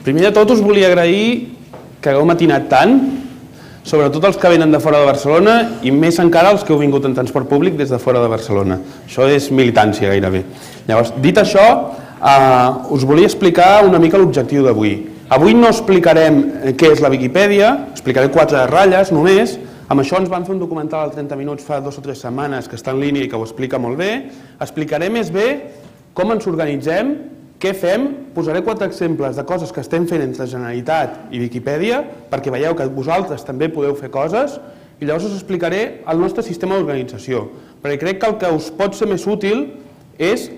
Primer de tot us volia agrair que hagueu matinat tant, sobretot els que venen de fora de Barcelona i més encara els que heu vingut en transport públic des de fora de Barcelona. Això és militància gairebé. Llavors, dit això, us volia explicar una mica l'objectiu d'avui. Avui no explicarem què és la Viquipèdia, explicaré 4 ratlles només. Amb això ens van fer un documental de 30 minuts fa 2 o 3 setmanes que està en línia i que ho explica molt bé. Explicaré més bé com ens organitzem, què fem, posaré 4 exemples de coses que estem fent entre Generalitat i Viquipèdia perquè veieu que vosaltres també podeu fer coses i llavors us explicaré el nostre sistema d'organització, perquè crec que el que us pot ser més útil és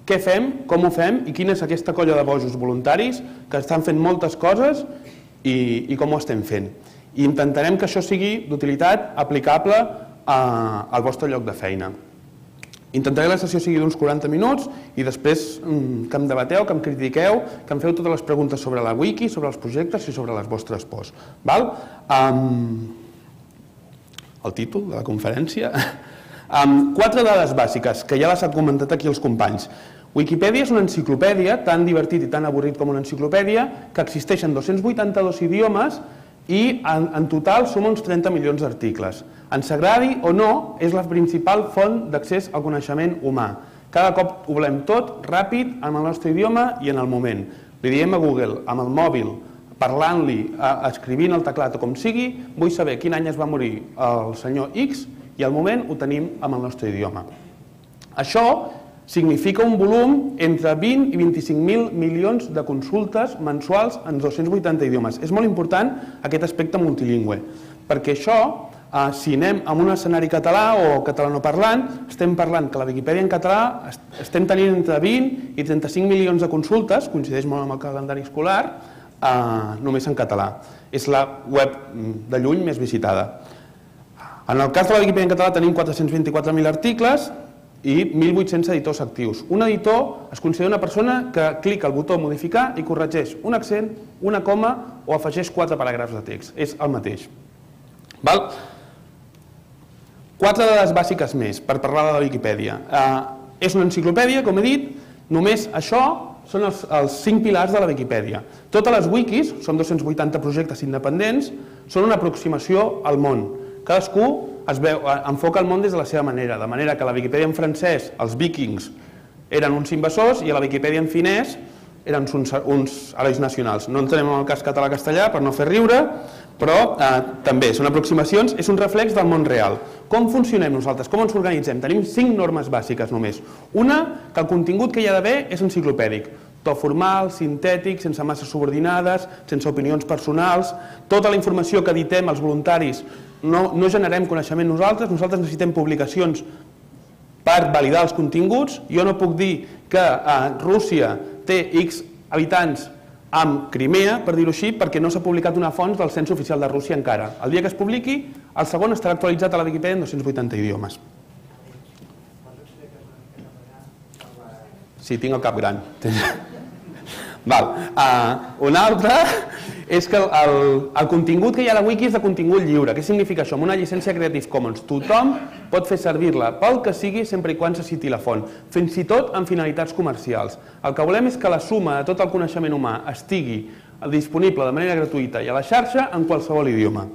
què fem, com ho fem i quina és aquesta colla de bojos voluntaris que estan fent moltes coses i com ho estem fent. I intentarem que això sigui d'utilitat aplicable al vostre lloc de feina. Intentaré que la sessió sigui d'uns 40 minuts i després que em debateu, que em critiqueu, que em feu totes les preguntes sobre la wiki, sobre els projectes i sobre les vostres pors. El títol de la conferència. 4 dades bàsiques, que ja les han comentat aquí els companys. Wikipedia és una enciclopèdia, tan divertit i tan avorrit com una enciclopèdia, que existeix en 282 idiomes i en total som uns 30 milions d'articles. Ens agradi o no, és la principal font d'accés al coneixement humà. Cada cop ho volem tot, ràpid, en el nostre idioma i en el moment. Li diem a Google, amb el mòbil, parlant-li, escrivint el teclat o com sigui, vull saber quin any es va morir el senyor X i al moment ho tenim amb el nostre idioma. Això significa un volum entre 20 i 25.000 milions de consultes mensuals en 280 idiomes. És molt important aquest aspecte multilingüe, perquè això, si anem a un escenari català o catalanoparlant, estem parlant que la Viquipèdia en català estem tenint entre 20 i 35 milions de consultes, coincideix molt amb el calendari escolar, només en català. És la web de lluny més visitada. En el cas de la Viquipèdia en català tenim 424.000 articles i 1.800 editors actius. Un editor es considera una persona que clica el botó modificar i corregeix un accent, una coma o afegeix 4 paràgrafs de text. És el mateix. 4 dades bàsiques més per parlar de la Viquipèdia. És una enciclopèdia, com he dit, només això són els 5 pilars de la Viquipèdia. Totes les wikis, són 280 projectes independents, són una aproximació al món. Cadascú enfoca el món des de la seva manera, de manera que a la Viquipèdia en francès els vikings eren uns invasors i a la Viquipèdia en finès eren uns herois nacionals. No entrem en el cas català-castellà per no fer riure, però també són aproximacions, és un reflex del món real. Com funcionem nosaltres? Com ens organitzem? Tenim 5 normes bàsiques només. Una, que el contingut que hi ha d'haver és enciclopèdic. To formal, sintètic, sense masses subordinades, sense opinions personals. Tota la informació que editem els voluntaris no generem coneixement nosaltres necessitem publicacions per validar els continguts. Jo no puc dir que Rússia té X habitants amb Crimea, per dir-ho així, perquè no s'ha publicat una font del cens oficial de Rússia encara. El dia que es publiqui, el segon estarà actualitzat a la Viquipèdia en 280 idiomes. Sí, tinc el cap gran. Una altra és que el contingut que hi ha a la wiki és de contingut lliure. Què significa això? Amb una llicència Creative Commons tothom pot fer servir-la pel que sigui sempre i quan se citi la font, fins i tot amb finalitats comercials. El que volem és que la suma de tot el coneixement humà estigui disponible de manera gratuïta i a la xarxa en qualsevol idioma.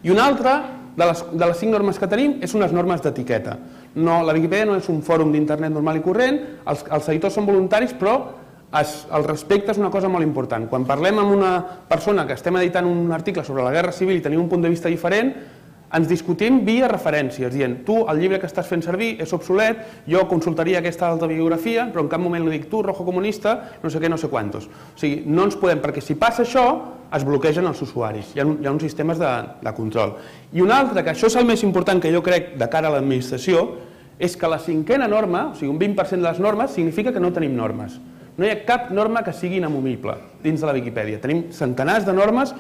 I una altra de les 5 normes que tenim és unes normes d'etiqueta. La Viquipèdia no és un fòrum d'internet normal i corrent, els editors són voluntaris, però el respecte és una cosa molt important. Quan parlem amb una persona que estem editant un article sobre la Guerra Civil i tenim un punt de vista diferent, ens discutim via referències, dient tu el llibre que estàs fent servir és obsolet, jo consultaria aquesta altra biografia, però en cap moment li dic tu, rojo comunista, no sé què, no sé quantos. O sigui, no ens podem, perquè si passa això, es bloquegen els usuaris. Hi ha uns sistemes de control. I una altra, que això és el més important que jo crec de cara a l'administració, és que la 5a norma, o sigui, un 20% de les normes, significa que no tenim normes. No hi ha cap norma que sigui inamovible dins de la Viquipèdia. Tenim centenars de normes,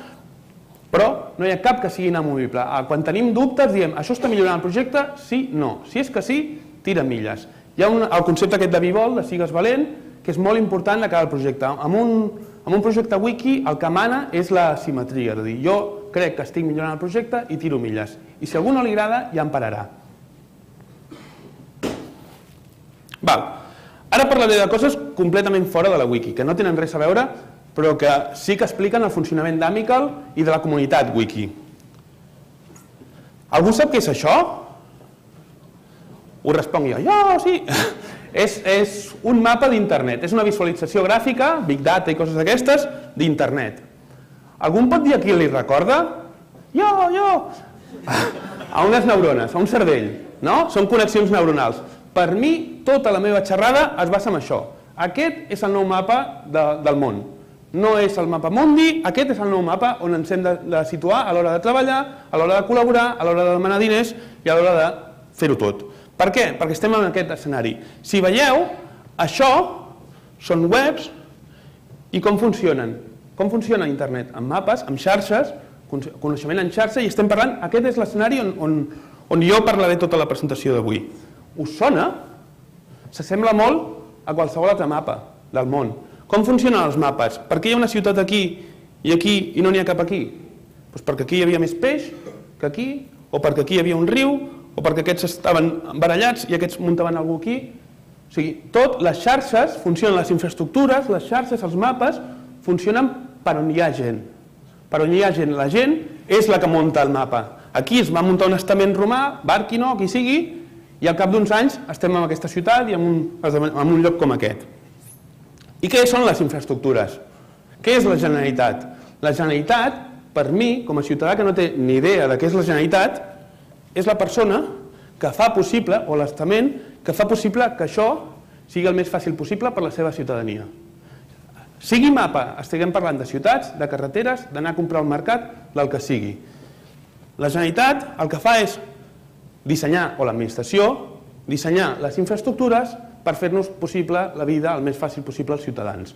però no hi ha cap que sigui inamovible. Quan tenim dubtes diem, això està millorant el projecte? Sí, no. Si és que sí, tira milles. Hi ha el concepte aquest de bivol, de sigues valent, que és molt important de cara al projecte. Amb un projecte wiki el que mana és la simetria, és a dir, jo crec que estic millorant el projecte i tiro milles. I si a algú no li agrada, ja em pararà. Ara parlaré de coses completament fora de la wiki, que no tenen res a veure però que sí que expliquen el funcionament d'Amical i de la comunitat wiki. Algú sap què és això? Ho responc jo. Jo, sí! És un mapa d'internet, és una visualització gràfica, Big Data i coses d'aquestes, d'internet. Algú em pot dir a qui li recorda? Jo! A unes neurones, a un cervell, no? Són connexions neuronals. Per mi, tota la meva xerrada es basa en això. Aquest és el nou mapa del món. No és el mapa mundi, aquest és el nou mapa on ens hem de situar a l'hora de treballar, a l'hora de col·laborar, a l'hora de demanar diners i a l'hora de fer-ho tot. Per què? Perquè estem en aquest escenari. Si veieu, això són webs i com funcionen. Com funciona internet? Amb mapes, amb xarxes, coneixement en xarxa, i estem parlant, aquest és l'escenari on jo parlaré tota la presentació d'avui. Us sona? S'assembla molt a qualsevol altre mapa del món. Com funcionen els mapes? Per què hi ha una ciutat aquí i aquí i no n'hi ha cap aquí? Doncs perquè aquí hi havia més peix que aquí, o perquè aquí hi havia un riu, o perquè aquests estaven barallats i aquests muntaven algú aquí. O sigui, tot, les xarxes funcionen, les infraestructures, les xarxes, els mapes, funcionen per on hi ha gent. Per on hi ha gent, la gent és la que munta el mapa. Aquí es va muntar un estament romà, Barquino, qui sigui, i al cap d'uns anys estem en aquesta ciutat i en un lloc com aquest. I què són les infraestructures? Què és la Generalitat? La Generalitat, per mi, com a ciutadà que no té ni idea de què és la Generalitat, és la persona que fa possible, o l'estament, que fa possible que això sigui el més fàcil possible per la seva ciutadania. Sigui mapa, estiguem parlant de ciutats, de carreteres, d'anar a comprar al mercat, del que sigui. La Generalitat el que fa és dissenyar, o l'administració, dissenyar les infraestructures per fer-nos possible la vida el més fàcil possible als ciutadans.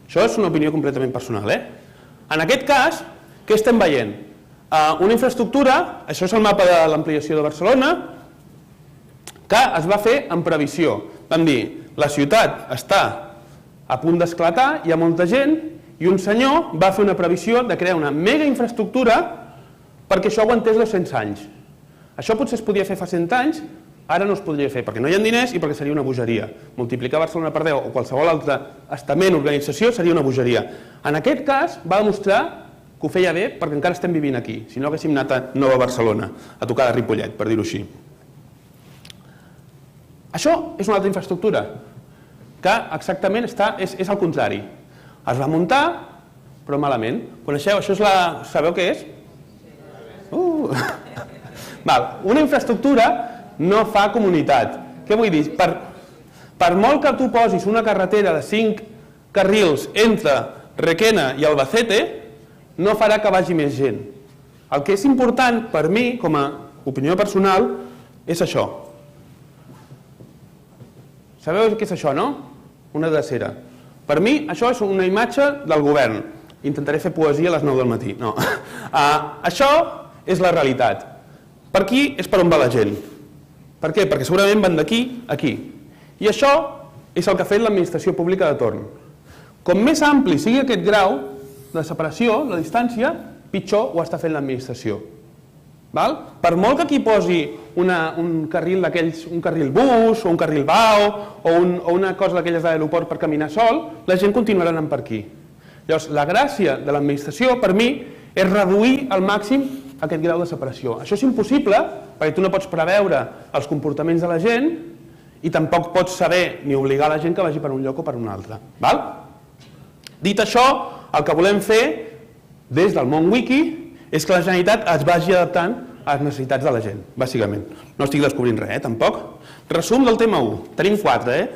Això és una opinió completament personal. En aquest cas, què estem veient? Una infraestructura, això és el mapa de l'ampliació de Barcelona, que es va fer en previsió. Vam dir, la ciutat està a punt d'esclatar, hi ha molta gent, i un senyor va fer una previsió de crear una mega infraestructura perquè això aguantés 200 anys. Això potser es podia fer fa 100 anys, ara no es podria fer perquè no hi ha diners i perquè seria una bogeria. Multiplicar Barcelona per 10 o qualsevol altre estament o organització seria una bogeria. En aquest cas va demostrar que ho feia bé perquè encara estem vivint aquí, si no haguéssim anat a Nova Barcelona, a tocar de Ripollet, per dir-ho així. Això és una altra infraestructura, que exactament és al contrari. Es va muntar, però malament. Coneixeu? Això és la... Sabeu què és? Una infraestructura no fa comunitat. Què vull dir? Per molt que tu posis una carretera de 5 carrils entre Requena i Albacete, no farà que vagi més gent. El que és important per mi, com a opinió personal, és això. Sabeu què és això, no? Una drecera. Per mi, això és una imatge del govern. Intentaré fer poesia a les 9 del matí. No. Això és la realitat. Per aquí és per on va la gent. Per què? Perquè segurament van d'aquí a aquí. I això és el que ha fet l'administració pública de torn. Com més ampli sigui aquest grau de separació, la distància, pitjor ho està fent l'administració. Per molt que aquí posi un carril d'aquells, un carril bus o un carril BAO o una cosa d'aquelles de l'aeroport per caminar sol, la gent continuarà anant per aquí. Llavors, la gràcia de l'administració, per mi, és reduir al màxim aquest grau de separació. Això és impossible perquè tu no pots preveure els comportaments de la gent i tampoc pots saber ni obligar la gent que vagi per un lloc o per un altre. Dit això, el que volem fer des del món wiki és que la Generalitat es vagi adaptant a les necessitats de la gent, bàsicament. No estic descobrint res, tampoc. Resum del tema 1. Tenim 4,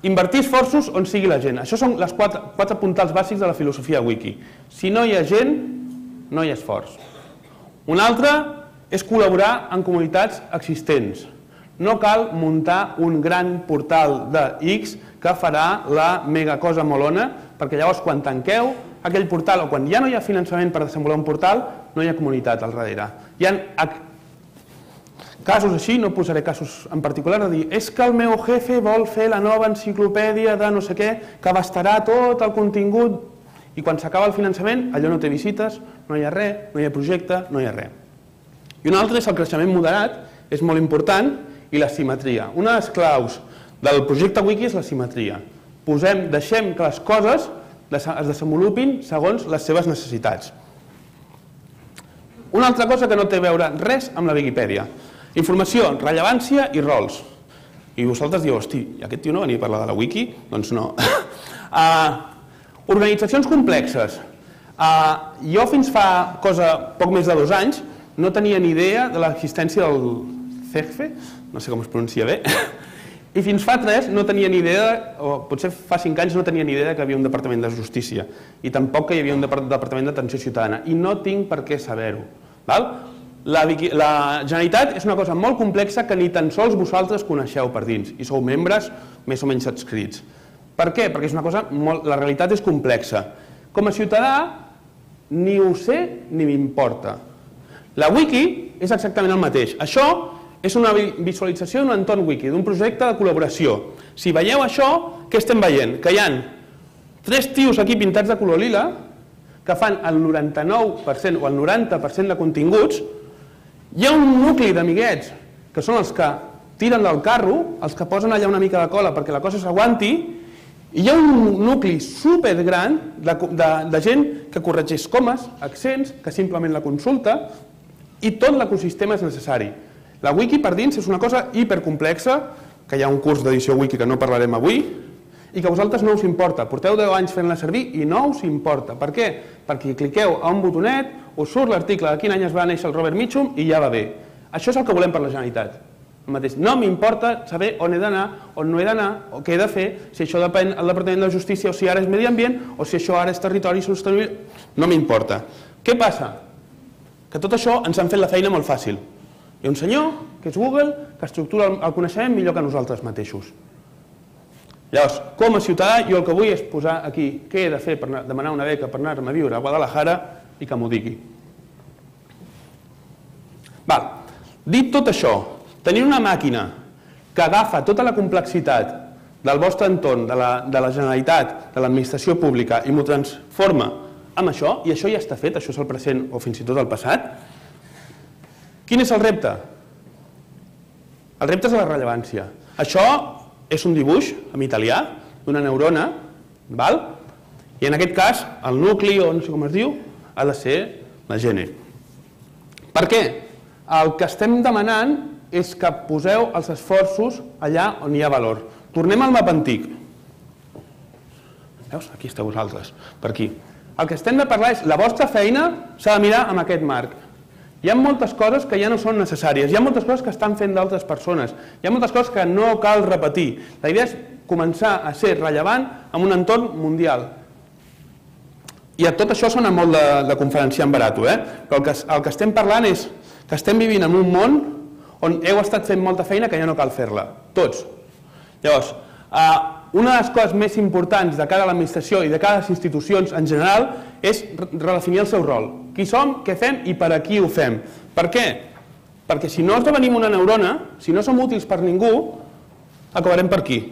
Invertir esforços on sigui la gent. Això són les 4 puntals bàsics de la filosofia wiki. Si no hi ha gent, no hi ha esforç. Un altre és col·laborar en comunitats existents. No cal muntar un gran portal de X que farà la mega cosa molona, perquè llavors quan tanqueu aquell portal o quan ja no hi ha finançament per desenvolupar un portal, no hi ha comunitat al darrere. Hi ha casos així, no posaré casos en particular, de dir és que el meu jefe vol fer la nova enciclopèdia de no sé què, que abastarà tot el contingut i quan s'acaba el finançament allò no té visites, no hi ha res, no hi ha projecte, no hi ha res. I un altre és el creixement moderat, és molt important, i la simetria. Una de les claus del projecte Wiki és la simetria. Deixem que les coses es desenvolupin segons les seves necessitats. Una altra cosa que no té a veure res amb la Viquipèdia. Informació, rellevància i rols. I vosaltres dieu, hosti, aquest tio no venia a parlar de la Wiki? Doncs no. Organitzacions complexes. Jo fins fa poc més de 2 anys no tenia ni idea de l'existència del CEGFE, no sé com es pronuncia bé, i fins fa 3 no tenia ni idea, o potser fa 5 anys no tenia ni idea que hi havia un departament de justícia i tampoc que hi havia un departament d'atenció ciutadana i no tinc per què saber-ho. La Generalitat és una cosa molt complexa que ni tan sols vosaltres coneixeu per dins i sou membres més o menys adscrits. Per què? Perquè és una cosa la realitat és complexa. Com a ciutadà ni ho sé ni m'importa. La Wiki és exactament el mateix. Això és una visualització d'un entorn wiki, d'un projecte de col·laboració. Si veieu això, què estem veient? Que hi ha 3 tios aquí pintats de color lila que fan el 99% o el 90% de continguts. Hi ha un nucli d'amiguets que són els que tiren del carro, els que posen allà una mica de cola perquè la cosa s'aguanti, i hi ha un nucli supergran de gent que corregeix comes, accents, que simplement la consulta, i tot l'ecosistema és necessari. La Wiki per dins és una cosa hipercomplexa, que hi ha un curs d'edició Wiki que no parlarem avui, i que a vosaltres no us importa. Porteu 10 anys fent-la servir i no us importa. Per què? Perquè cliqueu a un botonet, us surt l'article de quin any es va néixer el Robert Mitchum i ja va bé. Això és el que volem per la Generalitat. No m'importa saber on he d'anar, on no he d'anar, o què he de fer, si això depèn del Departament de Justícia o si ara és Medi Ambient o si això ara és Territori Sostenible. No m'importa. Què passa? Que tot això ens han fet la feina molt fàcil. Hi ha un senyor, que és Google, que estructura el coneixement millor que nosaltres mateixos. Llavors, com a ciutadà, jo el que vull és posar aquí què he de fer per demanar una beca per anar-me a viure a Guadalajara i que m'ho digui. Dit tot això, tenir una màquina que agafa tota la complexitat del vostre entorn, de la Generalitat, de l'administració pública i m'ho transforma en això, i això ja està fet, això és el present o fins i tot el passat. Quin és el repte? El repte és la rellevància. Això és un dibuix en italià d'una neurona, i en aquest cas el nucli, o no sé com es diu, ha de ser la gene. Per què? El que estem demanant és que poseu els esforços allà on hi ha valor. Tornem al mapa antic. Veus? Aquí esteu vosaltres, per aquí. El que estem de parlar és la vostra feina s'ha de mirar amb aquest marc. Hi ha moltes coses que ja no són necessàries, hi ha moltes coses que estan fent d'altres persones, hi ha moltes coses que no cal repetir. La idea és començar a ser rellevant en un entorn mundial. I tot això sona molt de conferenciant barat, però el que estem parlant és que estem vivint en un món on heu estat fent molta feina que ja no cal fer-la, tots. Llavors, una de les coses més importants de cara a l'administració i de cara a les institucions en general és redefinir el seu rol. Qui som, què fem i per a qui ho fem. Per què? Perquè si no esdevenim una neurona, si no som útils per ningú, acabarem per aquí.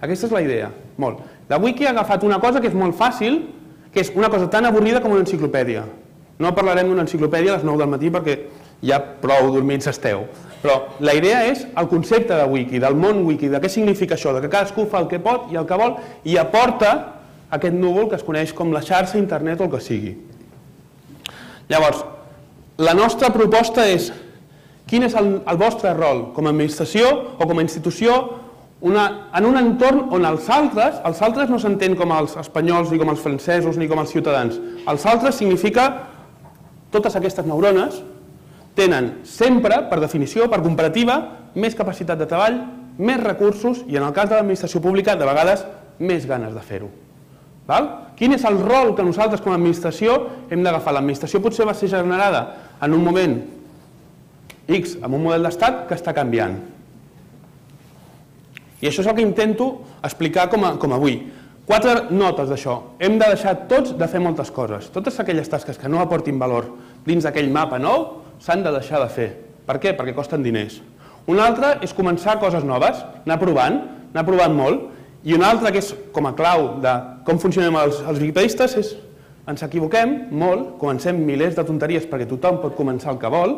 Aquesta és la idea. Molt. La Wiki ha agafat una cosa que és molt fàcil, que és una cosa tan avorrida com una enciclopèdia. No parlarem d'una enciclopèdia a les 9 del matí perquè ja prou dormits esteu. Però la idea és el concepte de Wiki, del món Wiki, de què significa això, de que cadascú fa el que pot i el que vol i aporta aquest núvol que es coneix com la xarxa, internet o el que sigui. Llavors, la nostra proposta és quin és el vostre rol com a administració o com a institució en un entorn on els altres no s'entén com els espanyols ni com els francesos ni com els ciutadans. Els altres significa totes aquestes neurones tenen sempre, per definició, per comparativa, més capacitat de treball, més recursos i en el cas de l'administració pública, de vegades, més ganes de fer-ho. Quin és el rol que nosaltres com a administració hem d'agafar? L'administració potser va ser generada en un moment X, amb un model d'estat que està canviant. I això és el que intento explicar com avui. 4 notes d'això. Hem de deixar tots de fer moltes coses. Totes aquelles tasques que no aportin valor dins d'aquell mapa nou s'han de deixar de fer. Per què? Perquè costen diners. Una altra és començar coses noves, anar provant molt, i una altra que és com a clau de com funcionem els wikipedistes és ens equivoquem molt, comencem milers de tonteries perquè tothom pot començar el que vol,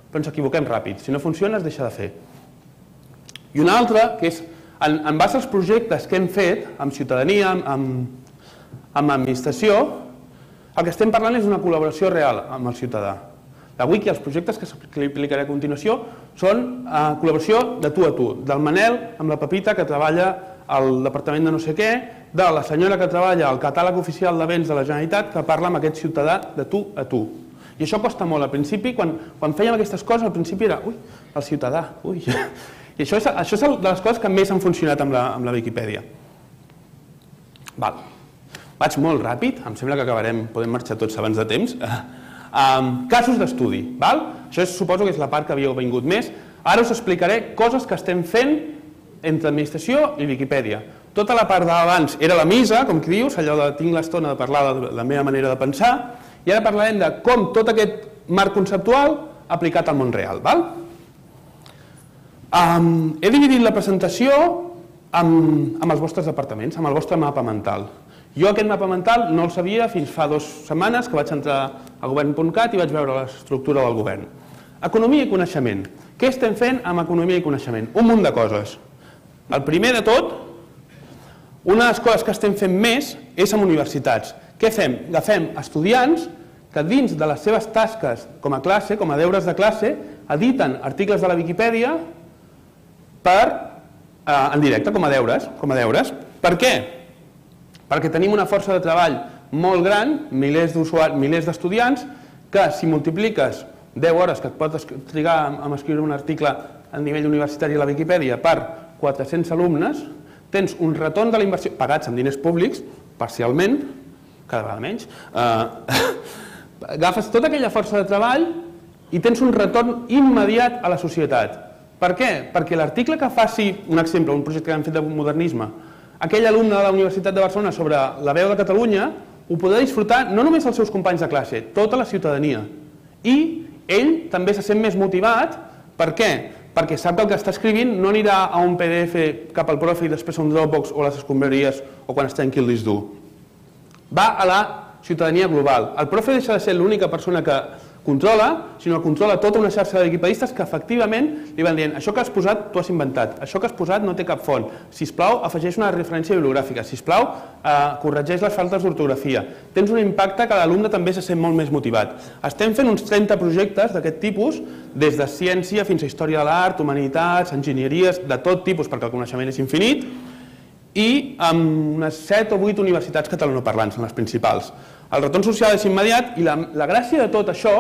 però ens equivoquem ràpid. Si no funciona es deixa de fer. I una altra que és En base als projectes que hem fet amb ciutadania, amb administració, el que estem parlant és d'una col·laboració real amb el ciutadà. La wiki, els projectes que explicaré a continuació, són col·laboració de tu a tu, del Manel amb la Pepita, que treballa al departament de no sé què, de la senyora que treballa al catàleg oficial de béns de la Generalitat, que parla amb aquest ciutadà de tu a tu. I això costa molt. Al principi, quan fèiem aquestes coses, al principi era, ui, el ciutadà, ui. I això és de les coses que més han funcionat amb la Viquipèdia. Vaig molt ràpid, em sembla que acabarem, podem marxar tots abans de temps. Casos d'estudi. Això suposo que és la part que havíeu vingut més. Ara us explicaré coses que estem fent entre administració i Viquipèdia. Tota la part d'abans era la missa, com qui dius, allò de tinc l'estona de parlar de la meva manera de pensar, i ara parlarem de com tot aquest marc conceptual aplicat al món real. He dividit la presentació amb els vostres departaments, amb el vostre mapa mental. Jo aquest mapa mental no el sabia fins fa 2 setmanes que vaig entrar a govern.cat i vaig veure l'estructura del govern. Economia i coneixement. Què estem fent amb economia i coneixement? Un munt de coses. El primer de tot, una de les coses que estem fent més és amb universitats. Què fem? Agafem estudiants que dins de les seves tasques com a classe, com a deures de classe, editen articles de la Viquipèdia en directe, com a deures. Per què? Perquè tenim una força de treball molt gran, milers d'estudiants, que si multipliques 10 hores que et pots trigar a escriure un article a nivell universitari a la Viquipèdia per 400 alumnes, tens un retorn de la inversió, pagats amb diners públics, parcialment, cada vegada menys, agafes tota aquella força de treball i tens un retorn immediat a la societat. Per què? Perquè l'article que faci, un exemple, un projecte que hem fet de modernisme, aquell alumne de la Universitat de Barcelona sobre la veu de Catalunya, ho podrà disfrutar no només els seus companys de classe, tota la ciutadania. I ell també se sent més motivat. Per què? Perquè sap que el que està escrivint no anirà a un PDF cap al profe i després a un Dropbox o a les escombraries o quan es trenqui el disc dur. Va a la ciutadania global. El profe deixa de ser l'única persona que controla, sinó que controla tota una xarxa de viquipedistes que efectivament li van dient això que has posat t'ho has inventat, això que has posat no té cap font, sisplau afegeix una referència bibliogràfica, sisplau corregeix les faltes d'ortografia. Tens un impacte que l'alumne també se sent molt més motivat. Estem fent uns 30 projectes d'aquest tipus, des de ciència fins a història de l'art, humanitats, enginyeries, de tot tipus perquè el coneixement és infinit, i amb unes 7 o 8 universitats catalanoparlants, són les principals. El retorn social és immediat i la gràcia de tot això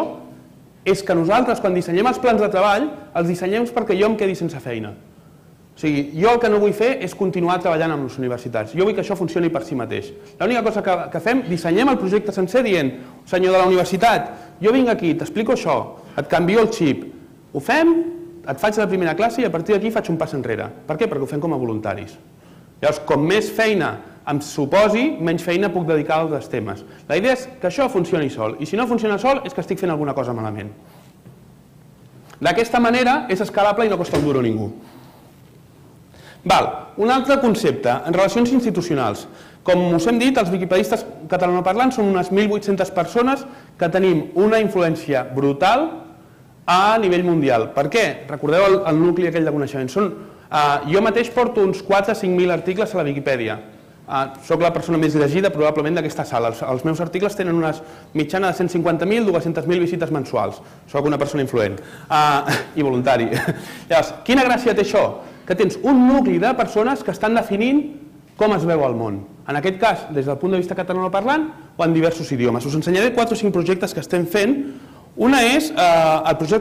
és que nosaltres, quan dissenyem els plans de treball, els dissenyem perquè jo em quedi sense feina. O sigui, jo el que no vull fer és continuar treballant amb les universitats. Jo vull que això funcioni per si mateix. L'única cosa que fem, dissenyem el projecte sencer dient senyor de la universitat, jo vinc aquí, t'explico això, et canvio el xip, ho fem, et faig la primera classe i a partir d'aquí faig un pas enrere. Per què? Perquè ho fem com a voluntaris. Llavors, com més feina em suposi, menys feina puc dedicar als altres temes. La idea és que això funcioni sol, i si no funciona sol és que estic fent alguna cosa malament. D'aquesta manera és escalable i no costa un duro a ningú. Un altre concepte, en relacions institucionals. Com us hem dit, els viquipedistes catalanoparlants són unes 1.800 persones que tenim una influència brutal a nivell mundial. Per què? Recordeu el nucli aquell de coneixement. Jo mateix porto uns 4 o 5.000 articles a la Viquipèdia. Soc la persona més llegida probablement d'aquesta sala. Els meus articles tenen una mitjana de 150.000, 200.000 visites mensuals. Soc una persona influent i voluntari. Llavors, quina gràcia té això? Que tens un nucli de persones que estan definint com es veu el món. En aquest cas, des del punt de vista catalanoparlant o en diversos idiomes. Us ensenyaré 4 o 5 projectes que estem fent. Una és,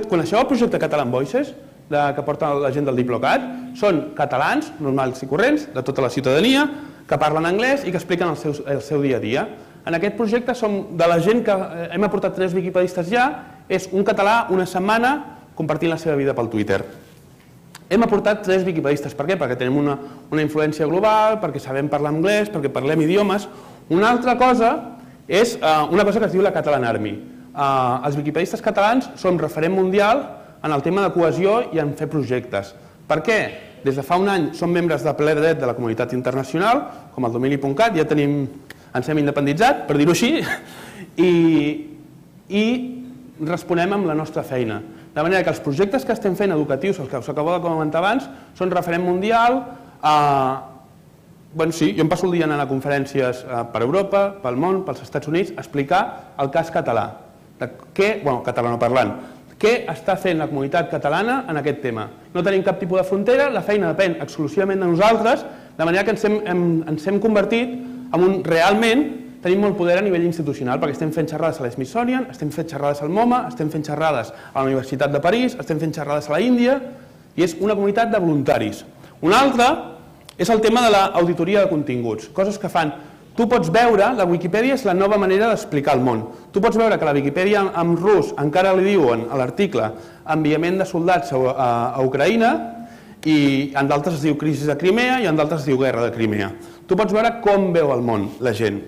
coneixeu el projecte Catalan Voices, que porta la gent del Diplocat? Són catalans, normals i corrents, de tota la ciutadania, que parlen anglès i que expliquen el seu dia a dia. En aquest projecte som de la gent que hem aportat 3 viquipedistes ja, és un català una setmana compartint la seva vida pel Twitter. Hem aportat 3 viquipedistes. Per què? Perquè tenim una influència global, perquè sabem parlar anglès, perquè parlem idiomes. Una altra cosa és una cosa que es diu la Catalan Army. Els viquipedistes catalans som referent mundial en el tema de cohesió i en fer projectes. Per què? Des de fa un any som membres de ple dret de la comunitat internacional, com el domini.cat, ja ens hem independitzat, per dir-ho així, i responem amb la nostra feina. De manera que els projectes que estem fent educatius, els que us acabo de comentar abans, són referent mundial, Sí, jo em passo el dia anant a conferències per Europa, pel món, pels Estats Units, a explicar el cas català. Catalanoparlant. Què està fent la comunitat catalana en aquest tema? No tenim cap tipus de frontera, la feina depèn exclusivament de nosaltres, de manera que ens hem convertit en un realment tenim molt poder a nivell institucional, perquè estem fent xerrades a l'Smithsonian, estem fent xerrades al MoMA, estem fent xerrades a la Universitat de París, estem fent xerrades a la Índia, i és una comunitat de voluntaris. Una altra és el tema de l'auditoria de continguts, coses que fan. Tu pots veure, la Wikipedia és la nova manera d'explicar el món. Tu pots veure que la Wikipedia en rus encara li diuen a l'article enviament de soldats a Ucraïna i en d'altres es diu crisi de Crimea i en d'altres es diu guerra de Crimea. Tu pots veure com veu el món la gent.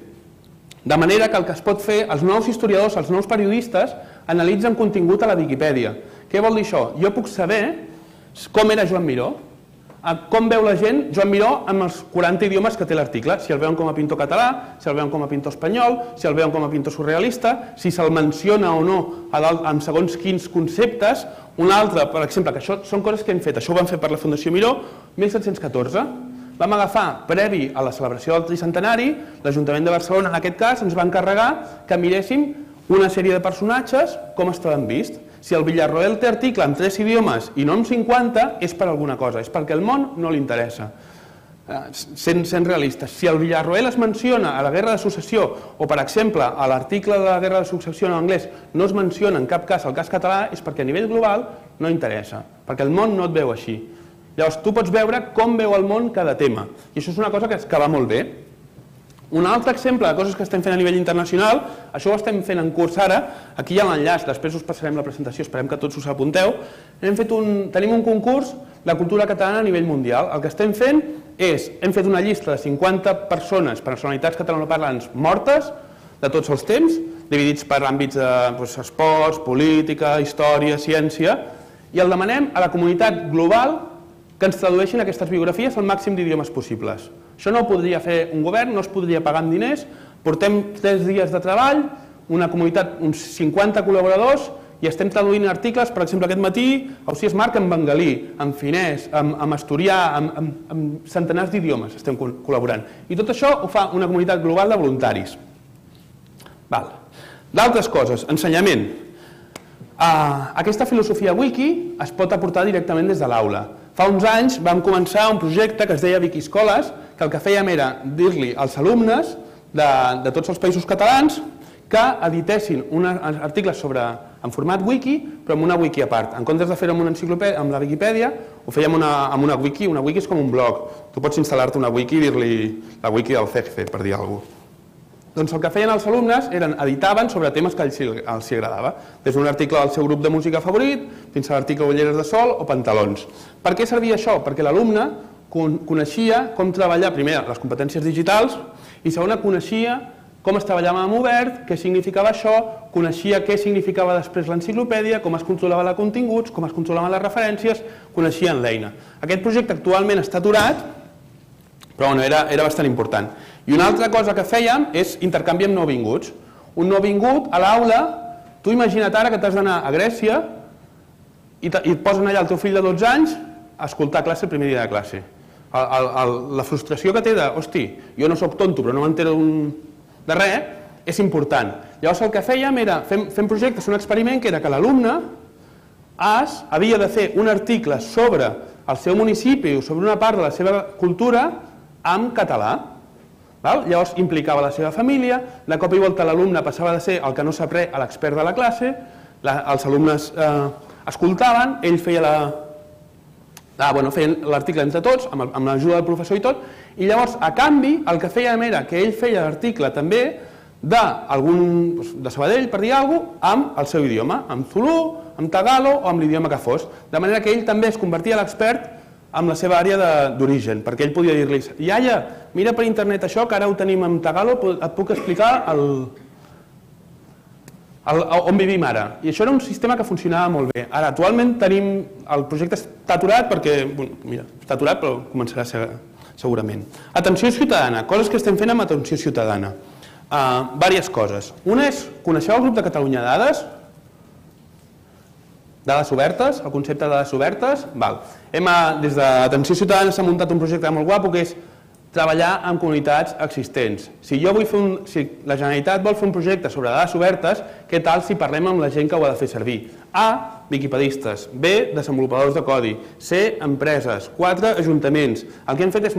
De manera que el que es pot fer, els nous historiadors, els nous periodistes, analitzen contingut a la Wikipedia. Què vol dir això? Jo puc saber com era Joan Miró, com veu la gent Joan Miró amb els 40 idiomes que té l'article, si el veuen com a pintor català, si el veuen com a pintor espanyol, si el veuen com a pintor surrealista, si se'l menciona o no amb segons quins conceptes. Un altre, per exemple, que això són coses que hem fet, això ho vam fer per la Fundació Miró, 1714. Vam agafar, previ a la celebració del tricentenari, l'Ajuntament de Barcelona, en aquest cas, ens va encarregar que miréssim una sèrie de personatges com estaven vists. Si el Villarroel té article en 3 idiomes i no en 50, és per alguna cosa, és perquè el món no li interessa. Sent realistes, si el Villarroel es menciona a la Guerra de Successió o, per exemple, a l'article de la Guerra de Successió en anglès no es menciona en cap cas el cas català, és perquè a nivell global no interessa, perquè el món no et veu així. Llavors, tu pots veure com veu el món cada tema, i això és una cosa que va molt bé. Un altre exemple de coses que estem fent a nivell internacional, això ho estem fent en curs ara, aquí hi ha l'enllaç, després us passarem la presentació, esperem que tots us apunteu. Tenim un concurs de cultura catalana a nivell mundial. El que estem fent és, hem fet una llista de 50 persones, personalitats catalanoparlants mortes, de tots els temps, dividits per àmbits d'esports, política, història, ciència, i el demanem a la comunitat global que ens tradueixin aquestes biografies al màxim d'idiomes possibles. Això no ho podria fer un govern, no es podria pagar amb diners, portem 3 dies de treball, una comunitat, uns 50 col·laboradors, i estem traduint articles, per exemple, aquest matí, Ausiàs Marc en bengalí, en finès, en asturià, en centenars d'idiomes estem col·laborant. I tot això ho fa una comunitat global de voluntaris. D'altres coses, ensenyament. Aquesta filosofia wiki es pot aportar directament des de l'aula. Fa uns anys vam començar un projecte que es deia Wikiscoles, que el que fèiem era dir-li als alumnes de tots els països catalans que editessin articles en format wiki, però amb una wiki a part. En comptes de fer-ho amb la Wikipedia, ho fèiem amb una wiki. Una wiki és com un blog. Tu pots instal·lar-te una wiki i dir-li la wiki del CEGFE, per dir alguna cosa. Doncs el que feien els alumnes editaven sobre temes que els agradava, des d'un article del seu grup de música favorit fins a l'article Ulleres de sol o pantalons. Per què servia això? Perquè l'alumne coneixia com treballar, primer, les competències digitals, i segona, coneixia com es treballava amb obert, què significava això, coneixia què significava després l'enciclopèdia, com es controlava els continguts, com es controlaven les referències, coneixien l'eina. Aquest projecte actualment està aturat, però era bastant important. I una altra cosa que fèiem és intercanvi amb nouvinguts. Un nouvingut a l'aula, tu imagina't ara que t'has d'anar a Grècia i et posen allà el teu fill de 12 anys a escoltar classe el primer dia de classe. La frustració que té de, hosti, jo no soc tonto però no m'entero de res, és important. Llavors el que fèiem era, fem projectes, un experiment que era que l'alumne havia de fer un article sobre el seu municipi o sobre una part de la seva cultura en català. Llavors implicava la seva família, de cop i volta l'alumne passava de ser el que no sap res a l'expert de la classe, els alumnes escoltaven, ell feia l'article entre tots, amb l'ajuda del professor i tot, i llavors, a canvi, el que fèiem era que ell feia l'article també de Sabadell, per dir alguna cosa, amb el seu idioma, amb Zulu, amb Tagalo o amb l'idioma que fos, de manera que ell també es convertia l'expert amb la seva àrea d'origen, perquè ell podia dir-li, iaia, mira per internet això, que ara ho tenim en Tagalo, et puc explicar on vivim ara. I això era un sistema que funcionava molt bé. Ara, actualment el projecte està aturat perquè, mira, està aturat però començarà segurament. Atenció ciutadana, coses que estem fent amb atenció ciutadana. Diverses coses. Una és, coneixeu el grup de Catalunya Dades? Dades obertes, el concepte de dades obertes. Des d'Atenció Ciutadana s'ha muntat un projecte molt guapo que és treballar amb comunitats existents. Si la Generalitat vol fer un projecte sobre dades obertes, què tal si parlem amb la gent que ho ha de fer servir? A, wikipedistes. B, desenvolupadors de codi. C, empreses. 4, ajuntaments. El que hem fet és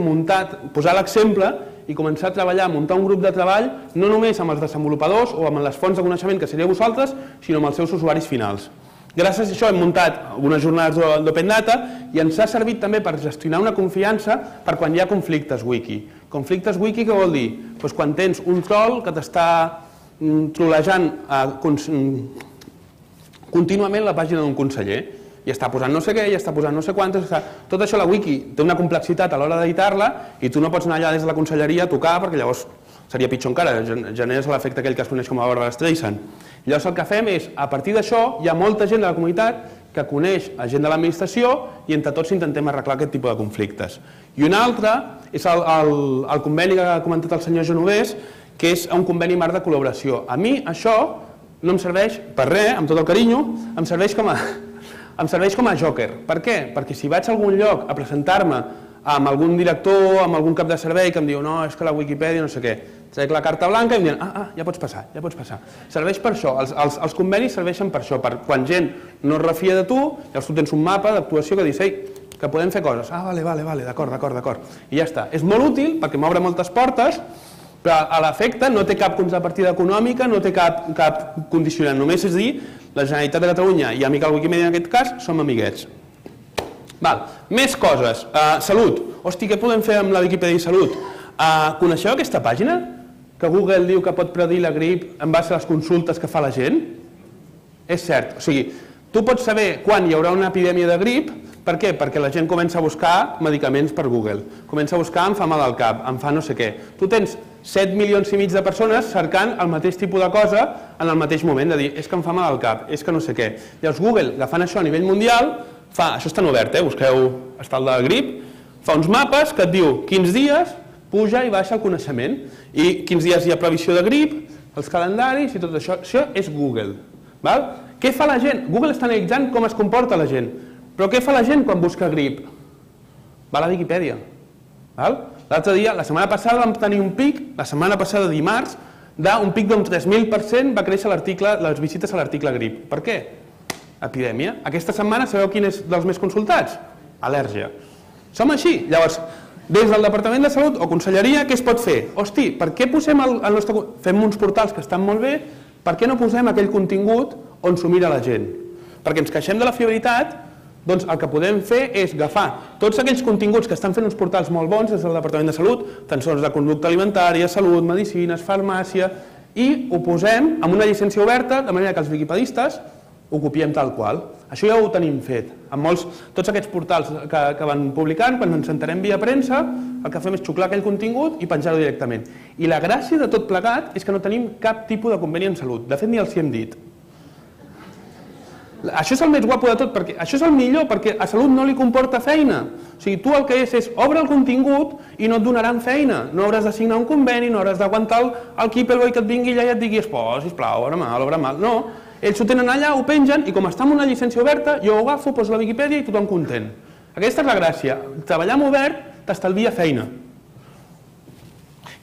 posar l'exemple i començar a treballar, muntar un grup de treball, no només amb els desenvolupadors o amb les fonts de coneixement que seríeu vosaltres, sinó amb els seus usuaris finals. Gràcies a això hem muntat algunes jornades d'Open Data i ens ha servit també per gestionar una confiança per quan hi ha conflictes wiki. Conflictes wiki què vol dir? Doncs quan tens un troll que t'està trolejant contínuament la pàgina d'un conseller i està posant no sé què, i està posant no sé quantes... Tot això la wiki té una complexitat a l'hora d'editar-la i tu no pots anar allà des de la conselleria a tocar perquè llavors seria pitjor encara, generes l'efecte aquell que es coneix com a Barbara Streisand. Llavors el que fem és, a partir d'això, hi ha molta gent de la comunitat que coneix a gent de l'administració i entre tots intentem arreglar aquest tipus de conflictes. I un altre és el conveni que ha comentat el senyor Genovès, que és un conveni marc de col·laboració. A mi això no em serveix per res, amb tot el carinyo, em serveix com a joker. Per què? Perquè si vaig a algun lloc a presentar-me amb algun director, amb algun cap de servei que em diu no, és que la Wikipedia no sé què, trec la carta blanca i em diuen ja pots passar, ja pots passar. Serveix per això, els convenis serveixen per això, per quan gent no es refia de tu, llavors tu tens un mapa d'actuació que dius, que podem fer coses. Vale, d'acord. I ja està. És molt útil perquè m'obre moltes portes, però a l'efecte no té cap contrapartida econòmica, no té cap condicionant. Només és dir, la Generalitat de Catalunya i Amical Wikimedia en aquest cas som amiguets. Més coses. Salut. Hosti, què podem fer amb la Wikipedia i Salut? Coneixeu aquesta pàgina? Que Google diu que pot predir la grip en base a les consultes que fa la gent? És cert. O sigui, tu pots saber quan hi haurà una epidèmia de grip. Per què? Perquè la gent comença a buscar medicaments per Google. Comença a buscar em fa mal al cap, em fa no sé què. Tu tens 7 milions i mig de persones cercant el mateix tipus de cosa en el mateix moment, de dir, és que em fa mal al cap, és que no sé què. Llavors Google, agafant això a nivell mundial, això està en obert, busqueu, està el de grip, fa uns mapes que et diu quins dies puja i baixa el coneixement i quins dies hi ha previsió de grip, els calendaris i tot això. Això és Google. Què fa la gent? Google està analitzant com es comporta la gent. Però què fa la gent quan busca grip? Va a la Wikipedia. L'altre dia, la setmana passada vam tenir un pic, la setmana passada dimarts, d'un pic d'un 3.000% va créixer les visites a l'article grip. Per què? Epidèmia. Aquesta setmana sabeu quin és dels més consultats? Al·lèrgia. Som així. Llavors, des del Departament de Salut o Conselleria, què es pot fer? Hosti, per què posem el nostre... Fem uns portals que estan molt bé, per què no posem aquell contingut on s'ho mira la gent? Perquè ens queixem de la fiabilitat, doncs el que podem fer és agafar tots aquells continguts que estan fent uns portals molt bons des del Departament de Salut, tensors de conducta alimentària, salut, medicines, farmàcia, i ho posem amb una llicència oberta, de manera que els wikipedistes ho copiem tal qual. Això ja ho tenim fet. Amb tots aquests portals que van publicant, quan ens enterem via premsa, el que fem és xuclar aquell contingut i penjar-ho directament. I la gràcia de tot plegat és que no tenim cap tipus de conveni en salut. De fet, ni els hi hem dit. Això és el més guapo de tot, perquè això és el millor, perquè a salut no li comporta feina. O sigui, tu el que és obre el contingut i no et donaran feina. No hauràs de signar un conveni, no hauràs d'aguantar el Keeperboy que et vingui allà i et digui, sisplau, obre mal. No, ells ho tenen allà, ho pengen, i com està amb una llicència oberta, jo ho agafo, poso a la Wikipedia i tothom content. Aquesta és la gràcia. Treballar amb obert t'estalvia feina.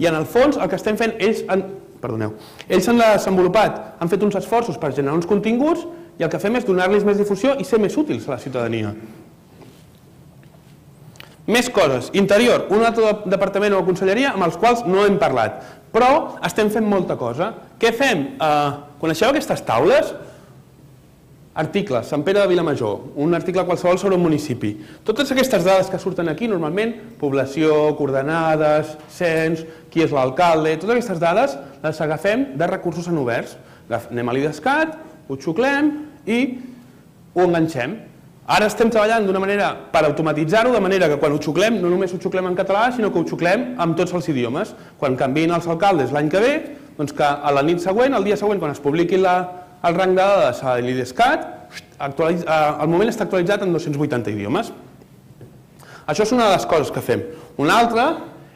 I en el fons el que estem fent, ells han desenvolupat, han fet uns esforços per generar uns continguts i el que fem és donar-los més difusió i ser més útils a la ciutadania. Més coses. Interior, un altre departament o conselleria amb els quals no hem parlat, però estem fent molta cosa. Què fem? Coneixeu aquestes taules? Articles, Sant Pere de Vilamajor, un article qualsevol sobre un municipi. Totes aquestes dades que surten aquí, normalment, població, coordenades, cens, qui és l'alcalde, totes aquestes dades les agafem de recursos en oberts. Anem a l'IDESCAT, ho xuclem i ho enganxem. Ara estem treballant d'una manera per automatitzar-ho, de manera que quan ho xuclem, no només ho xuclem en català, sinó que ho xuclem amb tots els idiomes. Quan canviïn els alcaldes l'any que ve, doncs que a la nit següent, el dia següent, quan es publiqui el rang de dades a l'IDESCAT, al moment està actualitzat en 280 idiomes. Això és una de les coses que fem. Una altra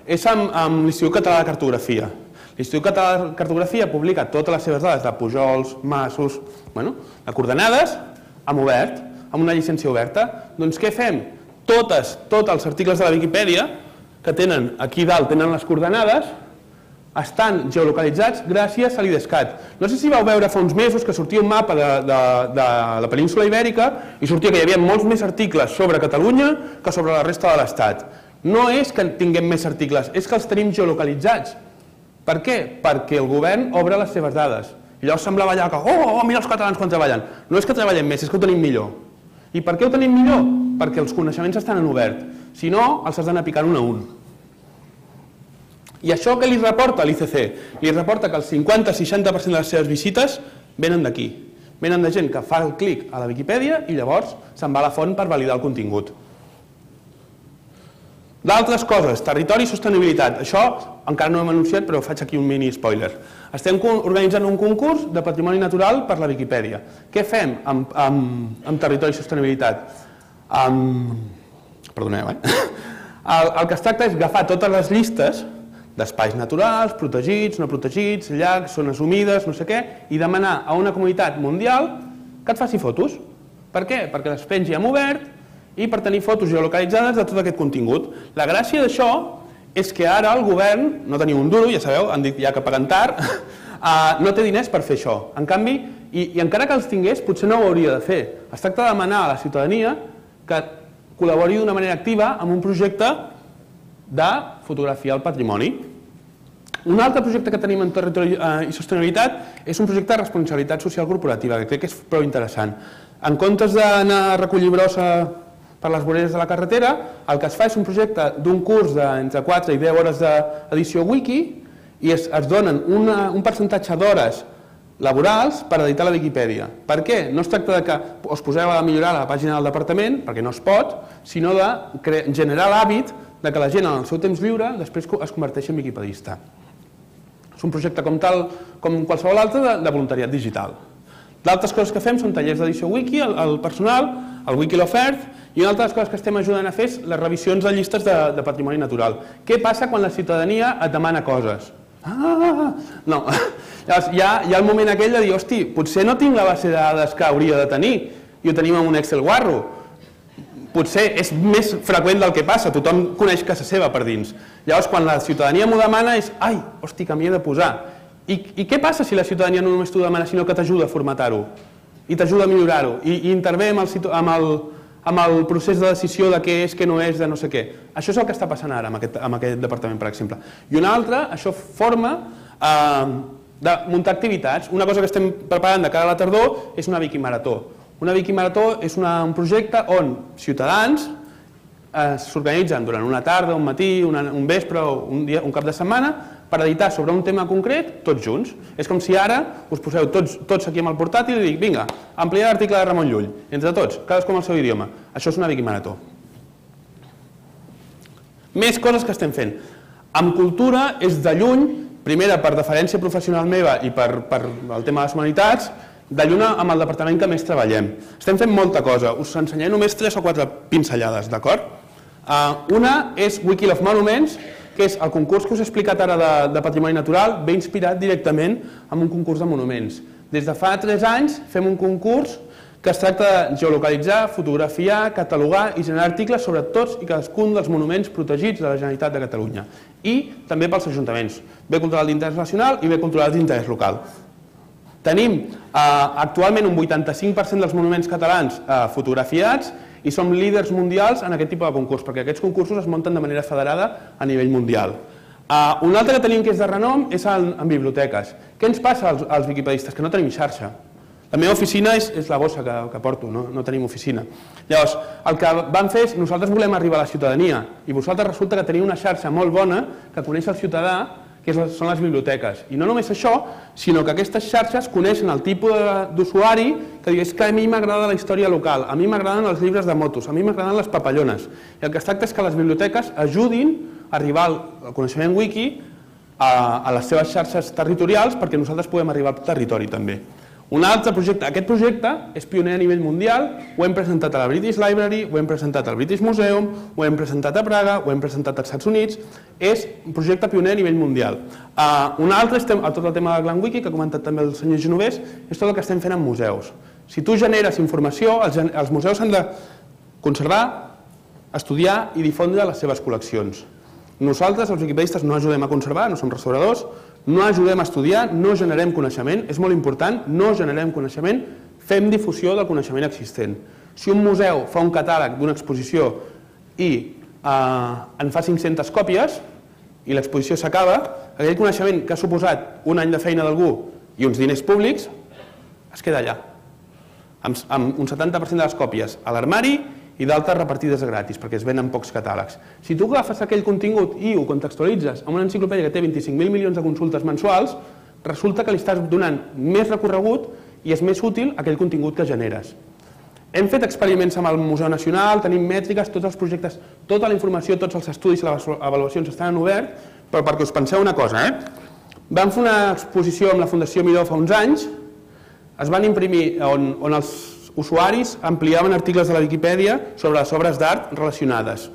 és amb l'Institut Català de Cartografia. L'Institut Català de Cartografia publica totes les seves dades de pujols, masos, de coordenades, en obert, amb una llicència oberta. Doncs què fem? Tots els articles de la Viquipèdia, que tenen aquí dalt, tenen les coordenades, estan geolocalitzats gràcies a l'IDESCAT. No sé si vau veure fa uns mesos que sortia un mapa de la península Ibèrica i sortia que hi havia molts més articles sobre Catalunya que sobre la resta de l'Estat. No és que tinguem més articles, és que els tenim geolocalitzats. Per què? Perquè el govern obre les seves dades. I llavors semblava allà que, mira els catalans quan treballen. No és que treballem més, és que ho tenim millor. I per què ho tenim millor? Perquè els coneixements estan en obert. Si no, els has d'anar picant un a un. I això què li reporta l'ICC? Li reporta que el 50-60% de les seves visites venen d'aquí. Venen de gent que fa el clic a la Viquipèdia i llavors se'n va a la font per validar el contingut. D'altres coses, territori i sostenibilitat. Això encara no ho hem anunciat, però faig aquí un mini spoiler. Estem organitzant un concurs de patrimoni natural per la Viquipèdia. Què fem amb territori i sostenibilitat? Perdoneu, El que es tracta és agafar totes les llistes d'espais naturals, protegits, no protegits, llacs, zones humides, no sé què, i demanar a una comunitat mundial que et faci fotos. Per què? Perquè les pengi en obert i per tenir fotos geolocalitzades de tot aquest contingut. La gràcia d'això és que ara el govern, no teniu un duro, ja sabeu, han dit ja que paguen tard, no té diners per fer això. En canvi, i encara que els tingués, potser no ho hauria de fer. Es tracta de demanar a la ciutadania que col·labori d'una manera activa amb un projecte de fotografiar el patrimoni. Un altre projecte que tenim en territori i sostenibilitat és un projecte de responsabilitat social corporativa, que crec que és prou interessant. En comptes d'anar a recollir brossa per les voreres de la carretera, el que es fa és un projecte d'un curs d'entre 4 i 10 hores d'edició wiki i es donen un percentatge d'hores laborals per editar la Viquipèdia. Per què? No es tracta que us poseu a millorar la pàgina del departament, perquè no es pot, sinó de generar l'hàbit que la gent en el seu temps lliure després es converteixi en viquipedista. És un projecte com qualsevol altre de voluntariat digital. D'altres coses que fem són tallers d'edició wiki, el personal, el wiki l'ofert, i una altra de les coses que estem ajudant a fer és les revisions de llistes de patrimoni natural. Què passa quan la ciutadania et demana coses? No. Llavors, hi ha el moment aquell de dir, hosti, potser no tinc la base de dades que hauria de tenir i ho tenim en un Excel guarro. Potser és més freqüent del que passa, tothom coneix casa seva per dins. Llavors, quan la ciutadania m'ho demana és, ai, hosti, que m'hi he de posar. I què passa si la ciutadania no només t'ho demana, sinó que t'ajuda a formatar-ho i t'ajuda a millorar-ho i intervé amb el procés de decisió de què és, què no és, de no sé què. Això és el que està passant ara amb aquest departament, per exemple. I una altra, això forma de muntar activitats. Una cosa que estem preparant de cara a la tardor és una Viquimarató. Una Viquimarató és un projecte on ciutadans s'organitzen durant una tarda, un matí, un vespre o un cap de setmana per editar sobre un tema concret tots junts. És com si ara us poseu tots aquí amb el portàtil i dic, vinga, ampliar l'article de Ramon Llull, entre tots, cadascú amb el seu idioma. Això és una Viquimarató. Més coses que estem fent. Amb cultura és de lluny, primera per deferència professional meva i per el tema de les humanitats, de lluny amb el departament que més treballem. Estem fent molta cosa. Us ensenyaré només 3 o 4 pinzellades, d'acord? Una és Wiki of Monuments, que és el concurs que us he explicat ara de patrimoni natural, ve inspirat directament en un concurs de monuments. Des de fa 3 anys fem un concurs que es tracta de geolocalitzar, fotografiar, catalogar i generar articles sobre tots i cadascun dels monuments protegits de la Generalitat de Catalunya. I també pels ajuntaments, bé cultural d'interès nacional i bé cultural d'interès local. Tenim actualment un 85% dels monuments catalans fotografiats i som líders mundials en aquest tipus de concurs, perquè aquests concursos es munten de manera federada a nivell mundial. Un altre que tenim que és de renom és en biblioteques. Què ens passa als viquipedistes? Que no tenim xarxa. La meva oficina és la bossa que porto, no tenim oficina. Llavors, el que vam fer és, nosaltres volem arribar a la ciutadania i vosaltres resulta que teniu una xarxa molt bona que coneix el ciutadà, que són les biblioteques. I no només això, sinó que aquestes xarxes coneixen el tipus d'usuari que diu, és que a mi m'agrada la història local, a mi m'agraden els llibres de motos, a mi m'agraden les papallones. I el que es tracta és que les biblioteques ajudin a arribar al coneixement wiki a les seves xarxes territorials perquè nosaltres puguem arribar al territori també. Un altre projecte, aquest projecte és pioner a nivell mundial, ho hem presentat a la British Library, ho hem presentat al British Museum, ho hem presentat a Praga, ho hem presentat als Estats Units, és un projecte pioner a nivell mundial. Un altre, tot el tema del Glam Wiki, que ha comentat també el senyor Genovès, és tot el que estem fent en museus. Si tu generes informació, els museus han de conservar, estudiar i difondre les seves col·leccions. Nosaltres, els wikipedistes, no ajudem a conservar, no som restauradors, no ajudem a estudiar, no generem coneixement, és molt important, no generem coneixement, fem difusió del coneixement existent. Si un museu fa un catàleg d'una exposició i en fa 500 còpies i l'exposició s'acaba, aquell coneixement que ha suposat un any de feina d'algú i uns diners públics es queda allà, amb un 70% de les còpies a l'armari i d'altres repartides gratis, perquè es venen pocs catàlegs. Si tu agafes aquell contingut i ho contextualitzes amb una enciclopèdia que té 25.000 milions de consultes mensuals, resulta que li estàs donant més recorregut i és més útil aquell contingut que generes. Hem fet experiments amb el Museu Nacional, tenim mètriques, tots els projectes, tota la informació, tots els estudis i les avaluacions estan en obert, però perquè us penseu una cosa, vam fer una exposició amb la Fundació Miró fa uns anys, es van imprimir on els usuaris ampliaven articles de la Viquipèdia sobre les obres d'art relacionades.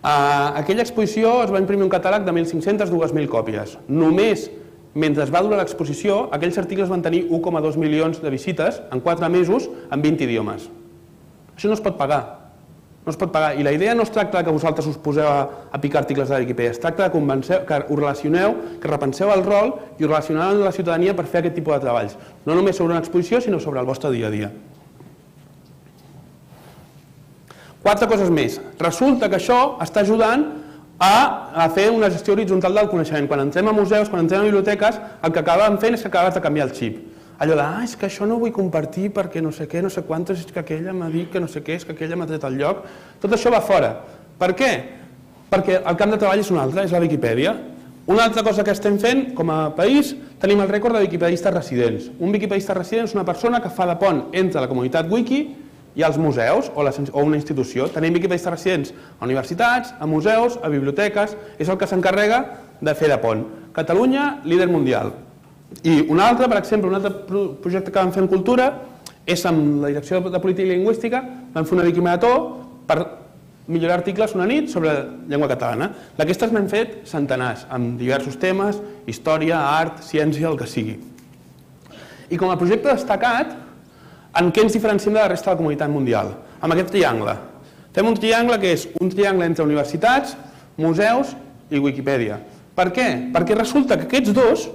A aquella exposició es va imprimir un catàleg de 1.500-2.000 còpies. Només mentre es va durar l'exposició, aquells articles van tenir 1,2 milions de visites en 4 mesos en 20 idiomes. Això no es pot pagar. No es pot pagar. I la idea no es tracta que vosaltres us poseu a picar articles de la Viquipèdia, es tracta que us relacioneu, que repenseu el rol i us relacioneu amb la ciutadania per fer aquest tipus de treballs. No només sobre una exposició, sinó sobre el vostre dia a dia. 4 coses més. Resulta que això està ajudant a fer una gestió horitzontal del coneixement. Quan entrem a museus, quan entrem a biblioteques, el que acabem fent és que acabes de canviar el xip. Allò de, és que això no ho vull compartir perquè no sé què, no sé quantes, és que aquella m'ha dit que no sé què, és que aquella m'ha tret el lloc. Tot això va fora. Per què? Perquè el camp de treball és un altre, és la Viquipèdia. Una altra cosa que estem fent, com a país, tenim el rècord de wikipedistes residents. Un wikipedista resident és una persona que fa de pont entre la comunitat wiki i als museus o una institució. Tenim wikipedistes residents a universitats, a museus, a biblioteques, és el que s'encarrega de fer de pont. Catalunya, líder mundial. I un altre, per exemple, un altre projecte que vam fer en cultura és amb la Direcció de Política i Lingüística, vam fer una wikimarató per millorar articles una nit sobre llengua catalana. D'aquestes n'hem fet centenars, amb diversos temes, història, art, ciència, el que sigui. I com a projecte destacat, en què ens diferenciem de la resta de la comunitat mundial? Amb aquest triangle. Fem un triangle que és un triangle entre universitats, museus i Wikipedia. Per què? Perquè resulta que aquests dos,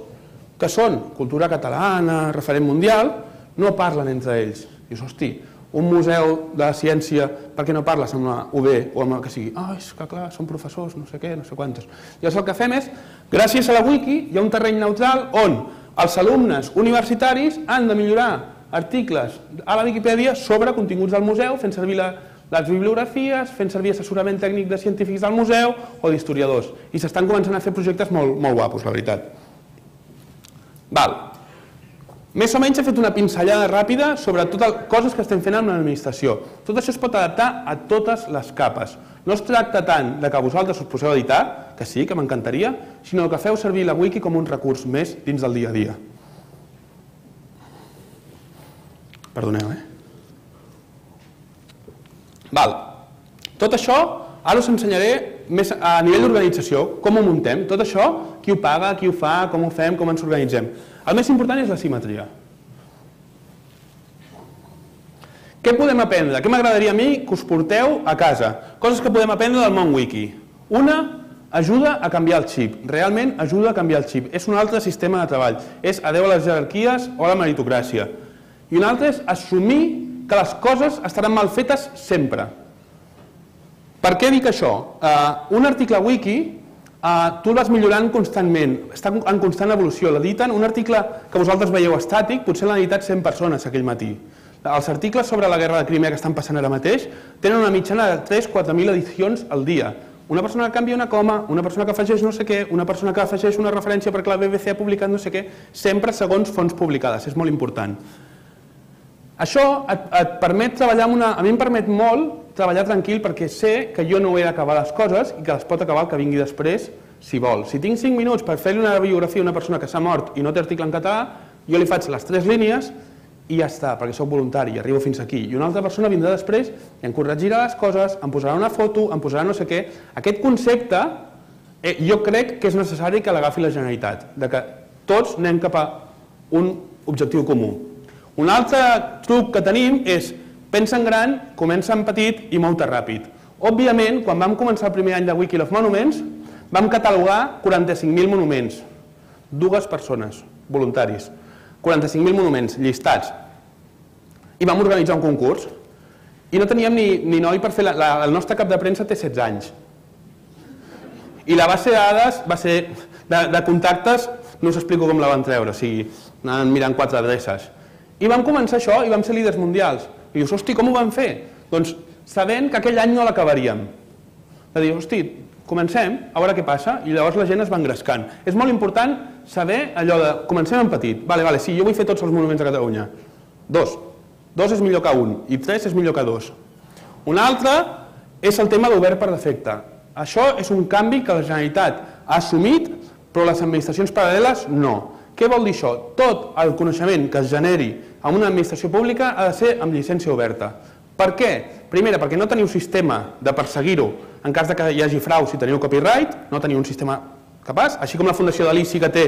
que són cultura catalana, referent mundial, no parlen entre ells. Dius, hosti, un museu de ciència, per què no parles amb la UB o amb el que sigui? És que clar, són professors, no sé què, no sé quantes. Llavors el que fem és, gràcies a la wiki, hi ha un terreny neutral on els alumnes universitaris han de millorar articles a la Viquipèdia sobre continguts del museu, fent servir les bibliografies, fent servir assessorament tècnic de científics del museu o d'historiadors. I s'estan començant a fer projectes molt guapos, la veritat. Més o menys he fet una pinzellada ràpida sobre totes coses que estem fent amb l'administració. Tot això es pot adaptar a totes les capes. No es tracta tant de que vosaltres us poseu a editar, que sí, que m'encantaria, sinó que feu servir la wiki com un recurs més dins del dia a dia. Perdoneu, Tot això ara us ensenyaré més a nivell d'organització, com ho muntem. Tot això, qui ho paga, qui ho fa, com ho fem, com ens organitzem. El més important és la simetria. Què podem aprendre? Què m'agradaria a mi que us porteu a casa? Coses que podem aprendre del món wiki. Una, ajuda a canviar el xip. Realment ajuda a canviar el xip. És un altre sistema de treball. És adeu a les jerarquies o a la meritocràcia. I un altre és assumir que les coses estaran mal fetes sempre. Per què dic això? Un article wiki tu el vas millorant constantment, està en constant evolució. L'editen, un article que vosaltres veieu estàtic, potser l'han editat 100 persones aquell matí. Els articles sobre la guerra de Crimea que estan passant ara mateix tenen una mitjana de 3-4.000 edicions al dia. Una persona que canvia una coma, una persona que afegeix no sé què, una persona que afegeix una referència perquè la BBC ha publicat no sé què, sempre segons fonts publicades, és molt important. Això et permet treballar amb una... A mi em permet molt treballar tranquil perquè sé que jo no he d'acabar les coses i que les pot acabar el que vingui després, si vol. Si tinc 5 minuts per fer-li una biografia a una persona que s'ha mort i no té article en català, jo li faig les 3 línies i ja està, perquè soc voluntari i arribo fins aquí. I una altra persona vindrà després i em corregirà les coses, em posarà una foto, em posarà no sé què. Aquest concepte jo crec que és necessari que l'agafi la Generalitat, de que tots anem cap a un objectiu comú. Un altre truc que tenim és pensa en gran, comença en petit i mou-te ràpid. Òbviament, quan vam començar el primer any de Wiki of Monuments, vam catalogar 45.000 monuments. 2 persones, voluntaris. 45.000 monuments llistats. I vam organitzar un concurs. I no teníem ni noi per fer... El nostre cap de premsa té 16 anys. I la base de dades va ser de contactes, no us explico com la van treure, o sigui, anaven mirant 4 adreces. I vam començar això i vam ser líders mundials. I dius, hosti, com ho vam fer? Doncs sabent que aquell any no l'acabaríem. De dir, hosti, comencem, a veure què passa, i llavors la gent es va engrescant. És molt important saber allò de, comencem en petit, vale, sí, jo vull fer tots els monuments de Catalunya. 2 és millor que 1, i 3 és millor que 2. Un altre és el tema d'obert per defecte. Això és un canvi que la Generalitat ha assumit, però les administracions paral·leles no. Què vol dir això? Tot el coneixement que es generi en una administració pública ha de ser amb llicència oberta. Per què? Primera, perquè no teniu sistema de perseguir-ho en cas que hi hagi frau si teniu copyright, no teniu un sistema capaç, així com la Fundació Dalí sí que té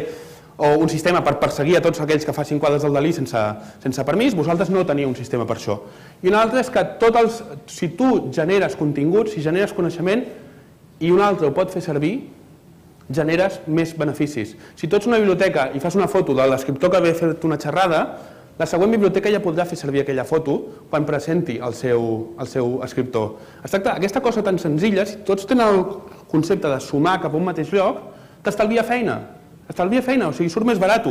un sistema per perseguir a tots aquells que facin quadres del Dalí sense permís, vosaltres no teniu un sistema per això. I un altre és que si tu generes contingut, si generes coneixement i un altre ho pot fer servir, generes més beneficis. Si tu ets una biblioteca i fas una foto de l'escriptor que ve a fer-te una xerrada, la següent biblioteca ja podrà fer servir aquella foto quan presenti el seu escriptor. Es tracta d'aquesta cosa tan senzilla, si tots tenen el concepte de sumar cap a un mateix lloc, t'estalvia feina. Estalvia feina, o sigui, surt més barat.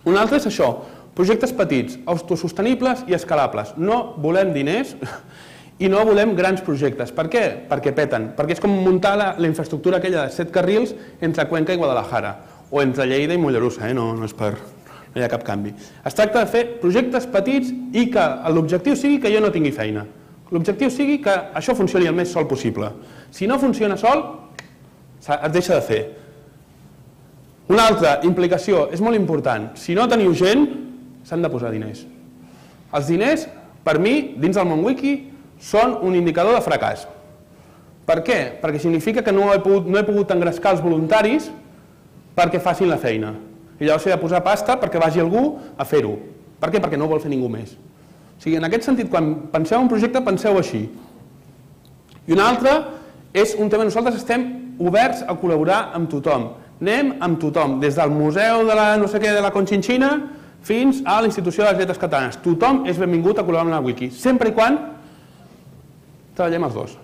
Un altre és això, projectes petits, autosostenibles i escalables. No volem diners i no volem grans projectes. Per què? Perquè peten. Perquè és com muntar la infraestructura aquella de 7 carrils entre Cuenca i Guadalajara, o entre Lleida i Mollerussa, no és per... no hi ha cap canvi. Es tracta de fer projectes petits i que l'objectiu sigui que jo no tingui feina. L'objectiu sigui que això funcioni el més sol possible. Si no funciona sol, es deixa de fer. Una altra implicació és molt important. Si no teniu gent, s'han de posar diners. Els diners, per mi, dins del món wiki, són un indicador de fracàs. Per què? Perquè significa que no he pogut engrescar els voluntaris perquè facin la feina. I llavors he de posar pasta perquè vagi algú a fer-ho. Per què? Perquè no ho vol fer ningú més. O sigui, en aquest sentit, quan penseu en un projecte, penseu així. I un altre és un tema, nosaltres estem oberts a col·laborar amb tothom. Anem amb tothom, des del Museu de la no sé què de la Conchinchina fins a la Institució de les Lletres Catalanes. Tothom és benvingut a col·laborar amb la Wiki, sempre i quan treballem els dos.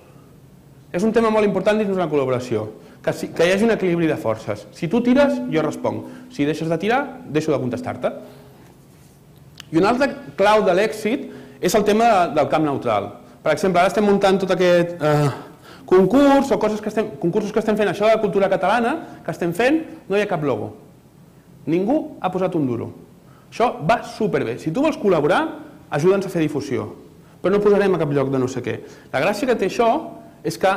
És un tema molt important dins d'una col·laboració, que hi hagi un equilibri de forces. Si tu tires, jo responc. Si deixes de tirar, deixo de contestar-te. I un altre clau de l'èxit és el tema del camp neutral. Per exemple, ara estem muntant tot aquest concurs o concursos que estem fent, això de la cultura catalana que estem fent, no hi ha cap logo. Ningú ha posat un duro. Això va superbé. Si tu vols col·laborar, ajuda'ns a fer difusió. Però no posarem a cap lloc de no sé què. La gràcia que té això és que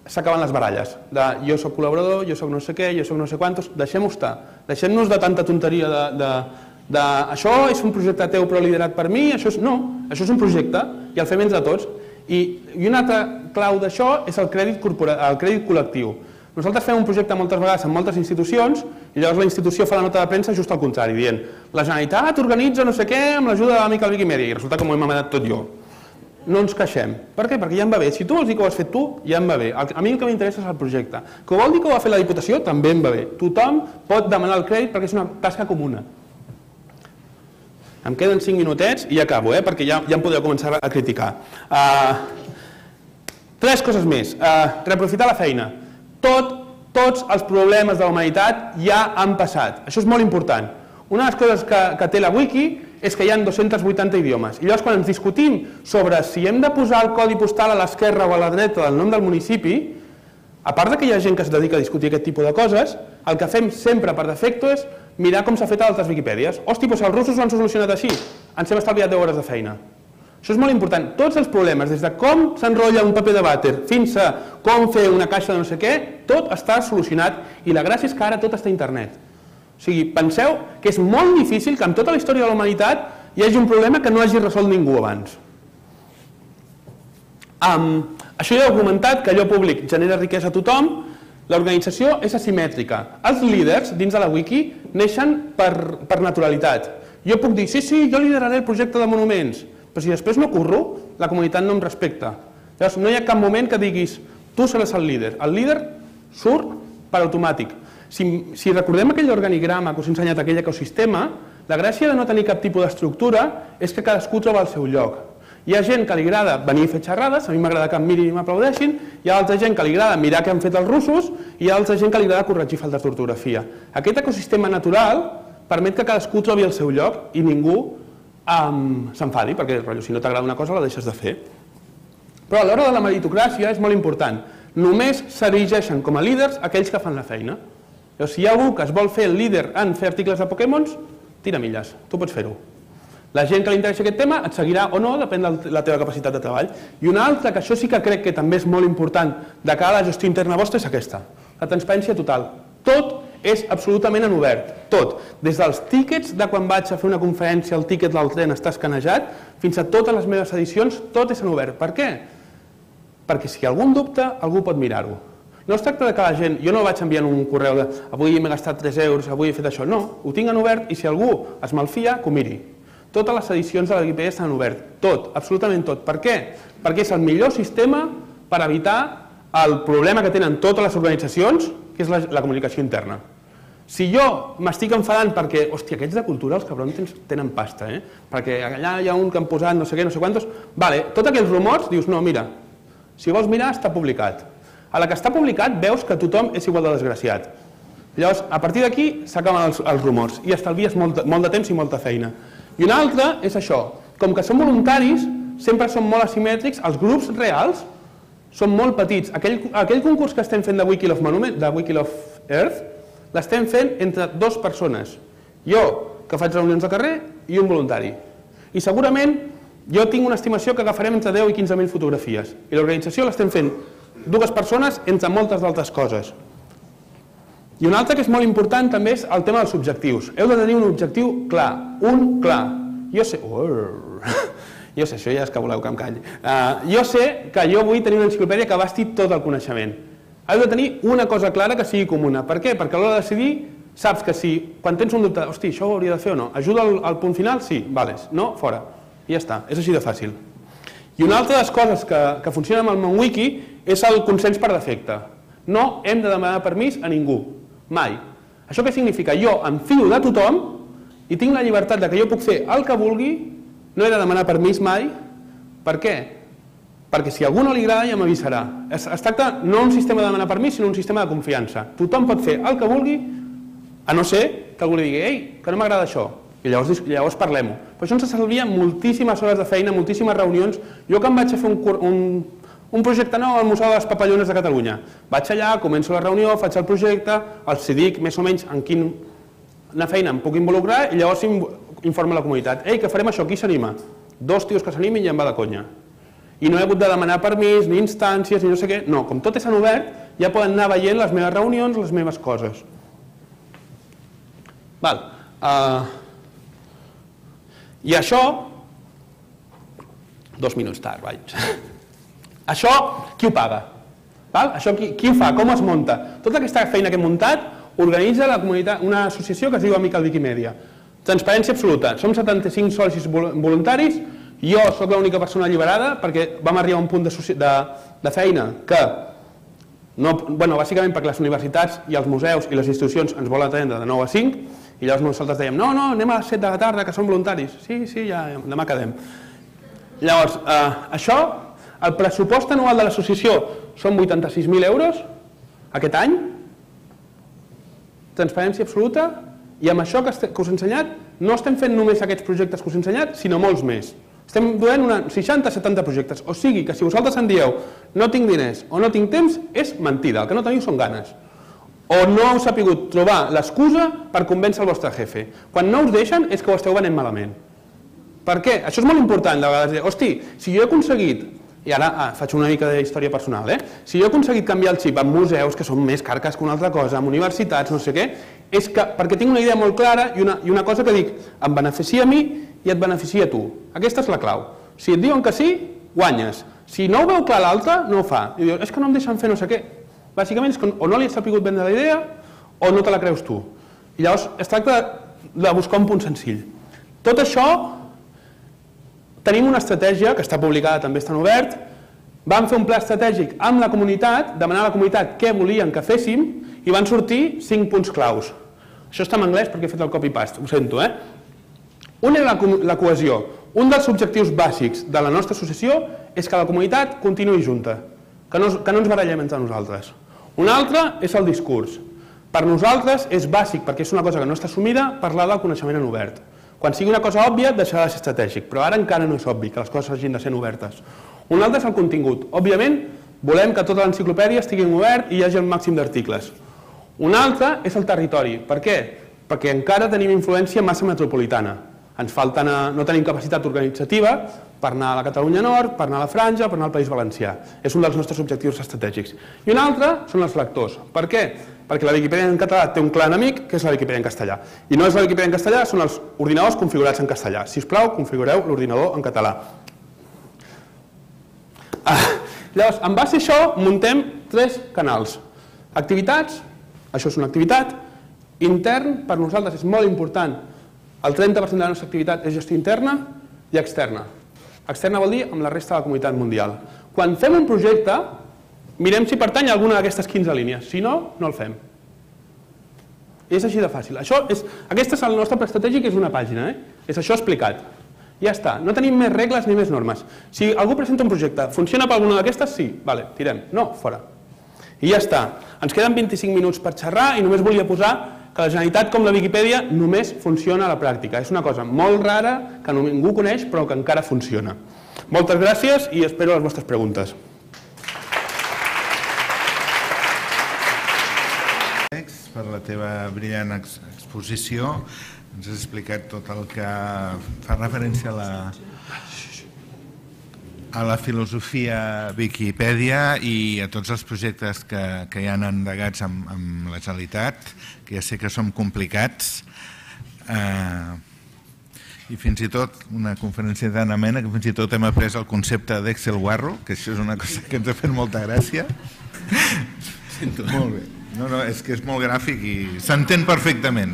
s'acaben les baralles. De jo soc col·laborador, jo soc no sé què, jo soc no sé quantos. Deixem-ho estar. Deixem-nos de tanta tonteria de això és un projecte teu però liderat per mi. No, això és un projecte i el fem entre tots. I una altra clau d'això és el crèdit col·lectiu. Nosaltres fem un projecte moltes vegades en moltes institucions i llavors la institució fa la nota de premsa just al contrari, dient la Generalitat organitza no sé què amb l'ajuda de l'amic al Wikimedia i resulta que m'ho he mamat tot jo. No ens queixem. Per què? Perquè ja em va bé. Si tu vols dir que ho has fet tu, ja em va bé. A mi el que m'interessa és el projecte. Que vol dir que ho ha fet la Diputació, també em va bé. Tothom pot demanar el crèdit perquè és una tasca comuna. Em queden 5 minutets i ja acabo, perquè ja em podreu començar a criticar. 3 coses més. Reaprofitar la feina. Tots els problemes de la humanitat ja han passat. Això és molt important. Una de les coses que té la Wiki és que hi ha 280 idiomes. I llavors quan ens discutim sobre si hem de posar el codi postal a l'esquerra o a la dreta del nom del municipi, a part que hi ha gent que es dedica a discutir aquest tipus de coses, el que fem sempre per defecte és mirar com s'ha fet a altres Wikipèdies. Hosti, doncs els russos ho han solucionat així. Ens hem estalviat 10 hores de feina. Això és molt important. Tots els problemes, des de com s'enrotlla un paper de vàter fins a com fer una caixa de no sé què, tot està solucionat i la gràcia és que ara tot està a internet. O sigui, penseu que és molt difícil que en tota la història de la humanitat hi hagi un problema que no hagi resolt ningú abans. Això ja he documentat que allò públic genera riquesa a tothom, l'organització és asimètrica. Els líders dins de la Wiki neixen per naturalitat. Jo puc dir, sí, jo lideraré el projecte de monuments, però si després no curro, la comunitat no em respecta. Llavors, no hi ha cap moment que diguis, tu seràs el líder surt per automàtic. Si recordem aquell organigrama que us he ensenyat, aquell ecosistema, la gràcia de no tenir cap tipus d'estructura és que cadascú troba el seu lloc. Hi ha gent que li agrada venir a fer xerrades, a mi m'agrada que em mirin i m'aplaudeixin, hi ha altra gent que li agrada mirar què han fet els russos i hi ha altra gent que li agrada corregir faltes d'ortografia. Aquest ecosistema natural permet que cadascú trobi el seu lloc i ningú s'enfadi, perquè si no t'agrada una cosa la deixes de fer. Però a l'hora de la meritocràcia és molt important. Només s'erigeixen com a líders aquells que fan la feina. Si hi ha algú que es vol fer el líder en fer articles de Pokémons, tira milles, tu pots fer-ho. La gent que li interessi aquest tema et seguirà o no, depèn de la teva capacitat de treball. I una altra, que això sí que crec que també és molt important de cara a la gestió interna vostra, és aquesta, la transparència total. Tot és absolutament en obert, tot. Des dels tíquets de quan vaig a fer una conferència, el tíquet del tren està escanejat, fins a totes les meves edicions, tot és en obert. Per què? Perquè si algú en dubta, algú pot mirar-ho. No es tracta de que la gent, jo no vaig enviant un correu de avui m'he gastat 3 euros, avui he fet això, no, ho tinc en obert i si algú es malfia, que ho miri. Totes les edicions de la Wikipedia estan en obert, tot, absolutament tot. Per què? Perquè és el millor sistema per evitar el problema que tenen totes les organitzacions, que és la comunicació interna. Si jo m'estic enfadant perquè, hòstia, aquests de cultura, els cabrons tenen pasta, perquè allà hi ha un que han posat no sé què, no sé quantos, vale, tots aquells rumors, dius, no, mira, si vols mirar, està publicat. A la que està publicat veus que tothom és igual de desgraciat. Llavors, a partir d'aquí s'acaben els rumors i estalvies molt de temps i molta feina. I una altra és això, com que són voluntaris, sempre són molt asimètrics, els grups reals són molt petits. Aquell concurs que estem fent de Wiki of Earth, l'estem fent entre 2 persones. Jo, que faig reunions de carrer, i un voluntari. I segurament jo tinc una estimació que agafarem entre 10 i 15.000 fotografies. I l'organització l'estem fent 2 persones entre moltes d'altres coses. I una altra que és molt important també és el tema dels objectius. Heu de tenir un objectiu clar, un clar. Jo sé, això ja és que voleu que em calli. Jo sé que jo vull tenir una enciclopèdia que abasti tot el coneixement. Heu de tenir una cosa clara que sigui comuna. Per què? Perquè a l'hora de decidir saps que si, quan tens un dubte, hosti, això ho hauria de fer o no, ajuda al punt final? Sí, vales, no, fora. I ja està, és així de fàcil. I una altra de les coses que funciona amb el MonWiki és el consens per defecte. No hem de demanar permís a ningú, mai. Això què significa? Jo em fio de tothom i tinc la llibertat que jo puc fer el que vulgui, no he de demanar permís mai. Per què? Perquè si a algú no li agrada ja m'avisarà. Es tracta no un sistema de demanar permís, sinó un sistema de confiança. Tothom pot fer el que vulgui, a no ser que algú li digui, ei, que no m'agrada això. I llavors parlem-ho. Però això ens estalvia moltíssimes hores de feina, moltíssimes reunions. Jo que em vaig a fer un projecte nou al Museu de les Papallones de Catalunya. Vaig allà, començo la reunió, faig el projecte, els dic més o menys en quina feina em puc involucrar i llavors informo la comunitat. Ei, que farem això, qui s'anima? 2 tios que s'animin i em va de conya. I no he hagut de demanar permís, ni instàncies, ni no sé què. No, com tot és en obert, ja poden anar veient les meves reunions, les meves coses. I això... 2 minuts tard, vaig. Això, qui ho paga? Això qui ho fa? Com es munta? Tota aquesta feina que he muntat organitza la comunitat, una associació que es diu Amical Wikimedia. Transparència absoluta. Som 75 socis voluntaris. Jo sóc l'única persona alliberada perquè vam arribar a un punt de feina que, bàsicament perquè les universitats i els museus i les institucions ens volen atendre de 9 a 5 i llavors nosaltres dèiem, no, anem a les 7 de la tarda que som voluntaris. Sí, ja, demà quedem. Llavors, això, el pressupost anual de l'associació són 86.000 euros aquest any, transparència absoluta, i amb això que us he ensenyat no estem fent només aquests projectes que us he ensenyat, sinó molts més. Estem duent 60-70 projectes, o sigui que si vosaltres em dieu no tinc diners o no tinc temps, és mentida, el que no teniu són ganes. O no heu sabut trobar l'excusa per convèncer el vostre jefe. Quan no us deixen és que ho esteu venent malament. Per què? Això és molt important, de vegades dir, hosti, si jo he aconseguit, i ara faig una mica d'història personal, si jo he aconseguit canviar el xip amb museus, que són més carques que una altra cosa, amb universitats, no sé què, és perquè tinc una idea molt clara i una cosa que dic, em beneficia a mi i et beneficia a tu. Aquesta és la clau. Si et diuen que sí, guanyes. Si no ho veu clar l'altre, no ho fa. I dius, és que no em deixen fer no sé què. Bàsicament és que o no li has sabut vendre la idea o no te la creus tu. I llavors es tracta de buscar un punt senzill. Tot això, tenim una estratègia que està publicada, també està en obert, vam fer un pla estratègic amb la comunitat, demanar a la comunitat què volien que féssim i van sortir 5 punts claus. Això està en anglès perquè he fet el copy-paste, ho sento, Un era la cohesió. Un dels objectius bàsics de la nostra associació és que la comunitat continuï junta, que no ens barallem entre nosaltres. Un altre és el discurs. Per nosaltres és bàsic, perquè és una cosa que no està assumida, parlar del coneixement en obert. Quan sigui una cosa òbvia, deixarà de ser estratègic, però ara encara no és obvi que les coses hagin de ser obertes. Un altre és el contingut. Òbviament, volem que tota l'enciclopèdia estigui en obert i hi hagi el màxim d'articles. Un altre és el territori. Per què? Perquè encara tenim influència massa metropolitana. Ens falta no tenim capacitat organitzativa per anar a la Catalunya Nord, per anar a la Franja, per anar al País Valencià. És un dels nostres objectius estratègics. I un altre són els lectors. Per què? Perquè la Viquipèdia en català té un clar enemic, que és la Viquipèdia en castellà. I no és la Viquipèdia en castellà, són els ordinadors configurats en castellà. Si us plau, configureu l'ordinador en català. Llavors, en base a això, muntem 3 canals. Activitats, això és una activitat. Intern, per nosaltres és molt important. El 30% de la nostra activitat és gestió interna i externa. Externa vol dir amb la resta de la comunitat mundial. Quan fem un projecte, mirem si pertany a alguna d'aquestes 15 línies. Si no, no el fem. És així de fàcil. Aquest és el nostre pla estratègic, és una pàgina. És això explicat. Ja està. No tenim més regles ni més normes. Si algú presenta un projecte, funciona per alguna d'aquestes? Sí. Vale, tirem. No, fora. I ja està. Ens queden 25 minuts per xerrar i només volia posar que la Generalitat, com la Viquipèdia, només funciona a la pràctica. És una cosa molt rara, que ningú coneix, però que encara funciona. Moltes gràcies i espero les vostres preguntes. Per la teva brillant exposició. Ens has explicat tot el que fa referència a la filosofia Viquipèdia i a tots els projectes que hi han endegats amb la Generalitat, que ja sé que són complicats, i fins i tot una conferència tan amena que fins i tot hem après el concepte d'Excel Guarro, que això és una cosa que ens ha fet molta gràcia. Molt bé. No, és que és molt gràfic i s'entén perfectament.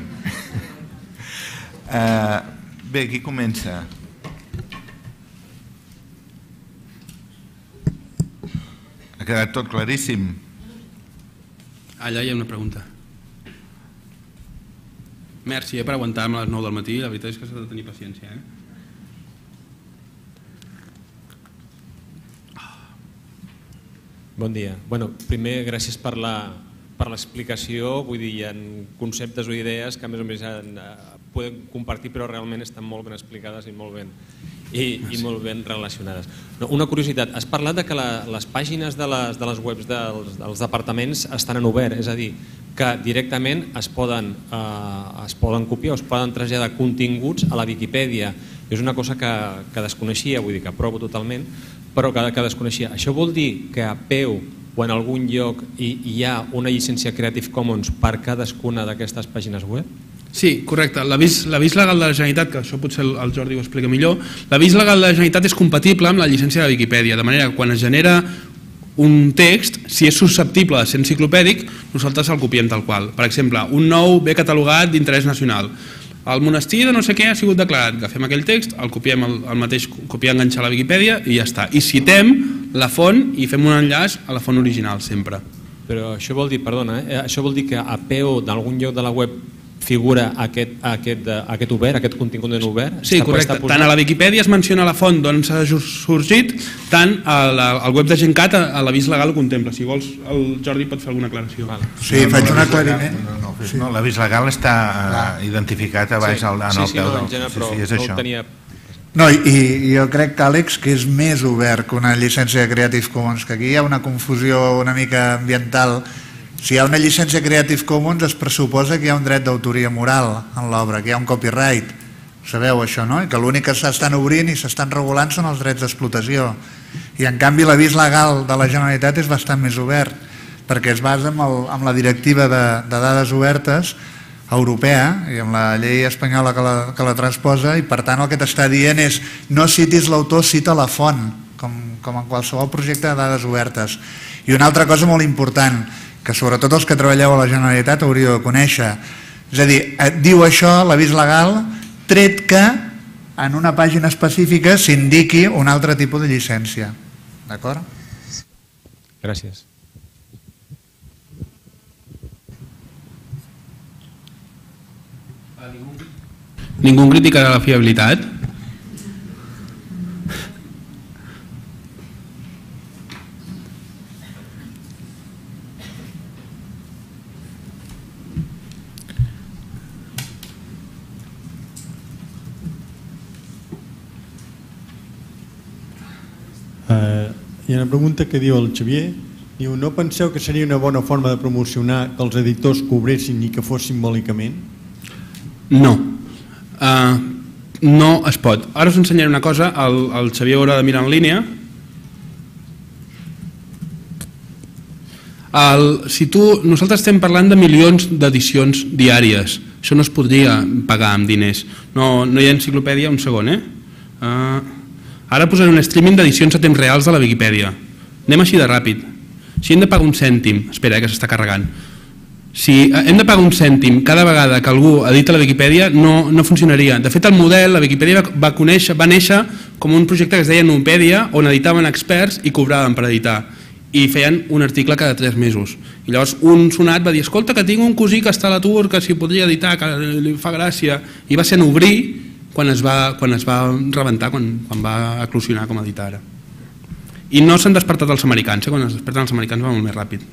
Bé, qui comença? Ha quedat tot claríssim. Allà hi ha una pregunta. Merci per aguantar-me a les 9 del matí. La veritat és que s'ha de tenir paciència. Bon dia. Primer, gràcies per l'explicació. Vull dir, hi ha conceptes o idees que a més o més podem compartir, però realment estan molt ben explicades i molt ben relacionades. Una curiositat, has parlat que les pàgines de les webs dels departaments estan en obert, és a dir, que directament es poden copiar o es poden traslladar continguts a la Viquipèdia. És una cosa que desconeixia, vull dir que aprovo totalment, però que desconeixia. Això vol dir que a peu o en algun lloc hi ha una llicència Creative Commons per cadascuna d'aquestes pàgines web? Sí, correcte. L'avís legal de la Generalitat, que això potser el Jordi ho explica millor, l'avís legal de la Generalitat és compatible amb la llicència de Viquipèdia, de manera que quan es genera un text, si és susceptible de ser enciclopèdic, nosaltres el copiem tal qual. Per exemple, un nou bé catalogat d'interès nacional. El monestir de no sé què ha sigut declarat. Agafem aquell text, el copiem el mateix, copiar, enganxar a la Viquipèdia i ja està. I citem la font i fem un enllaç a la font original sempre. Però això vol dir, perdona, això vol dir que a peu d'algun lloc de la web figura aquest obert, aquest contingut en obert? Sí, correcte. Tant a la Viquipèdia es menciona la font d'on s'ha sorgit, tant al web de GenCat a l'avís legal ho contempla. Si vols, el Jordi pot fer alguna aclaració. Sí, faig un aclariment. No, l'avís legal està identificat a baix en el peu del... Sí, és això. No, i jo crec, Àlex, que és més obert que una llicència de Creative Commons, que aquí hi ha una confusió una mica ambiental. Si hi ha una llicència Creative Commons es pressuposa que hi ha un dret d'autoria moral en l'obra, que hi ha un copyright. Sabeu això, no? I que l'únic que s'estan obrint i s'estan regulant són els drets d'explotació. I en canvi l'avís legal de la Generalitat és bastant més obert, perquè es basa en la directiva de dades obertes europea i amb la llei espanyola que la transposa, i per tant el que t'està dient és no citis l'autor, cita la font, com en qualsevol projecte de dades obertes. I una altra cosa molt important, que sobretot els que treballeu a la Generalitat hauríeu de conèixer, és a dir, diu això l'avís legal, tret que en una pàgina específica s'indiqui un altre tipus de llicència. D'acord? Gràcies. Ningú criticarà la fiabilitat? Hi ha una pregunta que diu el Xavier, diu, no penseu que seria una bona forma de promocionar que els editors cobressin i que fos simbòlicament? No. No es pot. Ara us ensenyaré una cosa, el Xavier haurà de mirar en línia. Nosaltres estem parlant de milions d'edicions diàries. Això no es podria pagar amb diners. No hi ha enciclopèdia, un segon, Ara posaré un streaming d'edicions a temps reals de la Viquipèdia. Anem així de ràpid. Si hem de pagar un cèntim, espera que s'està carregant, si hem de pagar un cèntim cada vegada que algú edita la Viquipèdia no funcionaria. De fet, el model, la Viquipèdia va néixer com un projecte que es deia Nupedia, on editaven experts i cobraven per editar. I feien un article cada 3 mesos. I llavors un sonat va dir, escolta, que tinc un cosí que està a l'atur, que si podria editar, que li fa gràcia. I va ser en obrir quan es va rebentar, quan va eclosionar com a editar ara. I no s'han despertat els americans, quan es desperten els americans va molt més ràpid.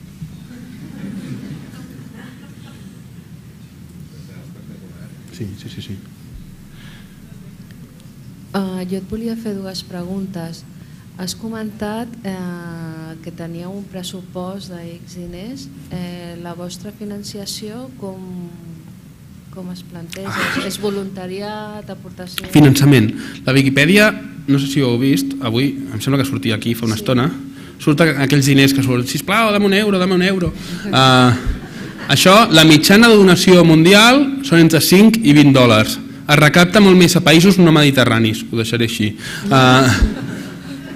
Sí. Jo et volia fer 2 preguntes. Has comentat que teníeu un pressupost d'X diners. La vostra financiació com es planteja? És voluntariat, aportació? Finançament. La Viquipèdia, no sé si ho heu vist, avui, em sembla que sortia aquí fa una estona, surten aquells diners que surten, sisplau, dame un euro. Això, la mitjana de donació mundial són entre 5 i 20 dòlars. Es recapta molt més a països no mediterranis, ho deixaré així.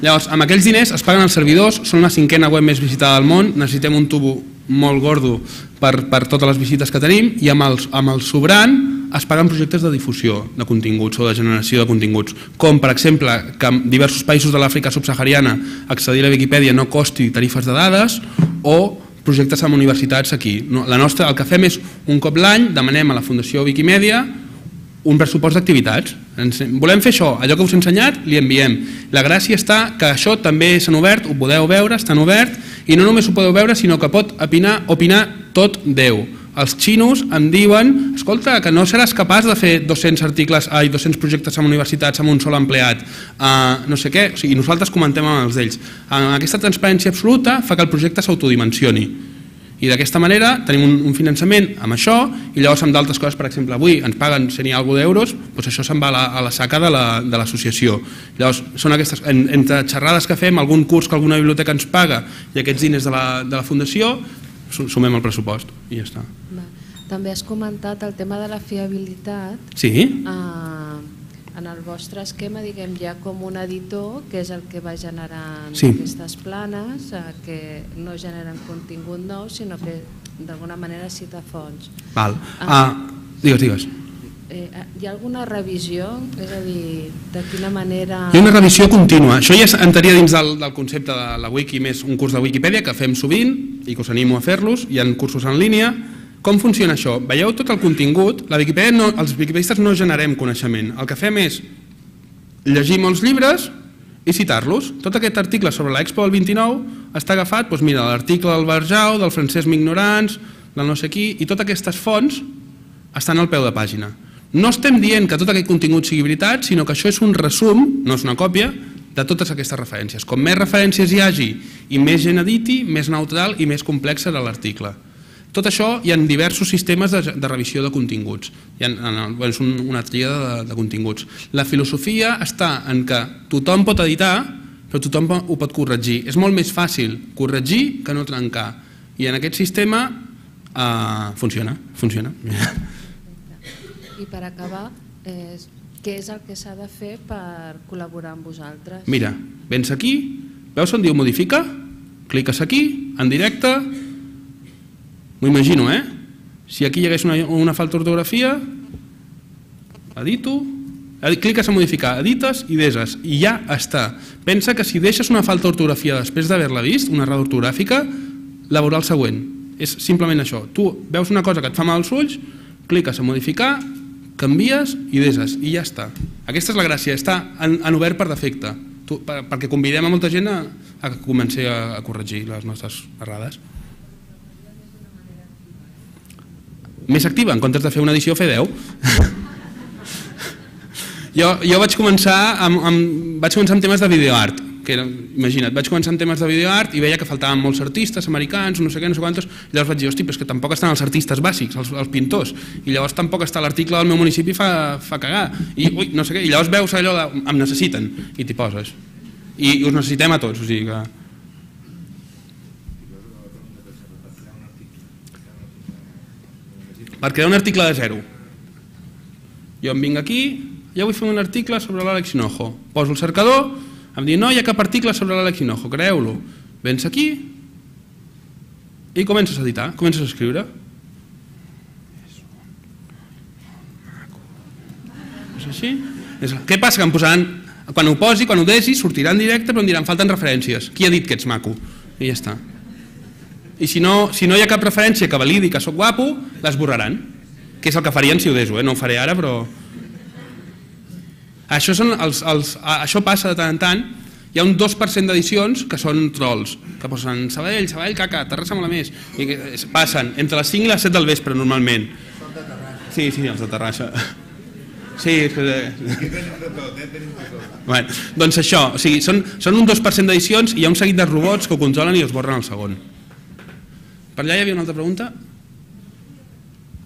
Llavors, amb aquells diners es paguen els servidors, són la 5a web més visitada del món, necessitem un tubo molt gordo per totes les visites que tenim i amb el sobrant es paguen projectes de difusió de continguts o de generació de continguts, com per exemple que en diversos països de l'Àfrica subsahariana accedir a la Viquipèdia no costi tarifes de dades o projectes amb universitats aquí. El que fem és un cop l'any demanem a la Fundació Wikimedia un pressupost d'activitats. Volem fer això, allò que us he ensenyat, li enviem. La gràcia està que això també s'han obert, ho podeu veure, estan obert, i no només ho podeu veure, sinó que pot opinar tot Déu. Els xinos em diuen, escolta, que no seràs capaç de fer 200 projectes amb universitats amb un sol empleat, no sé què, i nosaltres comentem amb els d'ells. Aquesta transparència absoluta fa que el projecte s'autodimensioni. I d'aquesta manera tenim un finançament amb això i llavors amb d'altres coses, per exemple, avui ens paguen 100 i alguna d'euros, doncs això se'n va a la saca de l'associació. Llavors són aquestes, entre xerrades que fem, algun curs que alguna biblioteca ens paga i aquests diners de la fundació, sumem el pressupost i ja està. També has comentat el tema de la fiabilitat. Sí. En el vostre esquema, diguem, hi ha com un editor que és el que va generant aquestes planes, que no generen contingut nou, sinó que d'alguna manera cita fonts. Digues. Hi ha alguna revisió? És a dir, de quina manera... Hi ha una revisió contínua. Això ja entraria dins del concepte de la wiki, més un curs de Wikipedia que fem sovint i que us animo a fer-los. Hi ha cursos en línia. Com funciona això? Veieu tot el contingut? Els wikipedistes no generem coneixement. El que fem és llegir molts llibres i citar-los. Tot aquest article sobre l'Expo del 29 està agafat, doncs mira, l'article del Barjau, del Francesc Mignorants, del no sé qui, i totes aquestes fonts estan al peu de pàgina. No estem dient que tot aquest contingut sigui veritat, sinó que això és un resum, no és una còpia, de totes aquestes referències. Com més referències hi hagi i més gent editi, més neutral i més complex serà l'article. Tot això hi ha diversos sistemes de revisió de continguts, és una tríada de continguts. La filosofia està en que tothom pot editar, però tothom ho pot corregir. És molt més fàcil corregir que no trencar. I en aquest sistema funciona. I per acabar, què és el que s'ha de fer per col·laborar amb vosaltres? Mira, vens aquí, veus on diu modifica? Cliques aquí, en directe. M'ho imagino, Si aquí hi hagués una falta d'ortografia, edito, Cliques a modificar, edites i deses, i ja està. Pensa que si deixes una falta d'ortografia després d'haver-la vist, una errada ortogràfica, la veurà el següent. És simplement això. Tu veus una cosa que et fa mal als ulls, cliques a modificar, canvies i deses, i ja està. Aquesta és la gràcia, està en obert per defecte, perquè convidem a molta gent a que comenci a corregir les nostres errades. Més activa, en comptes de fer una edició, fer 10. Jo vaig començar amb temes de videoart, que era, imagina't, vaig començar amb temes de videoart i veia que faltaven molts artistes americans, no sé què, no sé quantos, i llavors vaig dir, hosti, però és que tampoc estan els artistes bàsics, els pintors, i llavors tampoc està l'article del meu municipi fa cagar, i ui, no sé què, i llavors veus allò de, em necessiten, i t'hi poses. I us necessitem a tots, o sigui que... Per crear un article de zero. Jo em vinc aquí, ja vull fer un article sobre l'Àlex Hinojo. Poso el cercador, em diu no hi ha cap article sobre l'Àlex Hinojo, creeu-lo. Vens aquí i comences a editar, comences a escriure. És així? Què passa? Que em posaran, quan ho posi, quan ho desi, sortirà en directe però em diran falten referències. Qui ha dit que ets maco? I ja està. I si no hi ha cap referència que validi que sóc guapo, l'esborraran, que és el que farien si ho deso, no ho faré ara, però... Això passa de tant en tant, hi ha un 2% d'edicions que són trolls, que posen Sabadell, caca, Terrassa mola més, i passen entre les 5 i les 7 del vespre normalment. Són de Terrassa. Sí, els de Terrassa. Sí, aquí tenim de tot, Bueno, doncs això, són un 2% d'edicions i hi ha un seguit de robots que ho controlen i els borren al segon. Per allà hi havia una altra pregunta?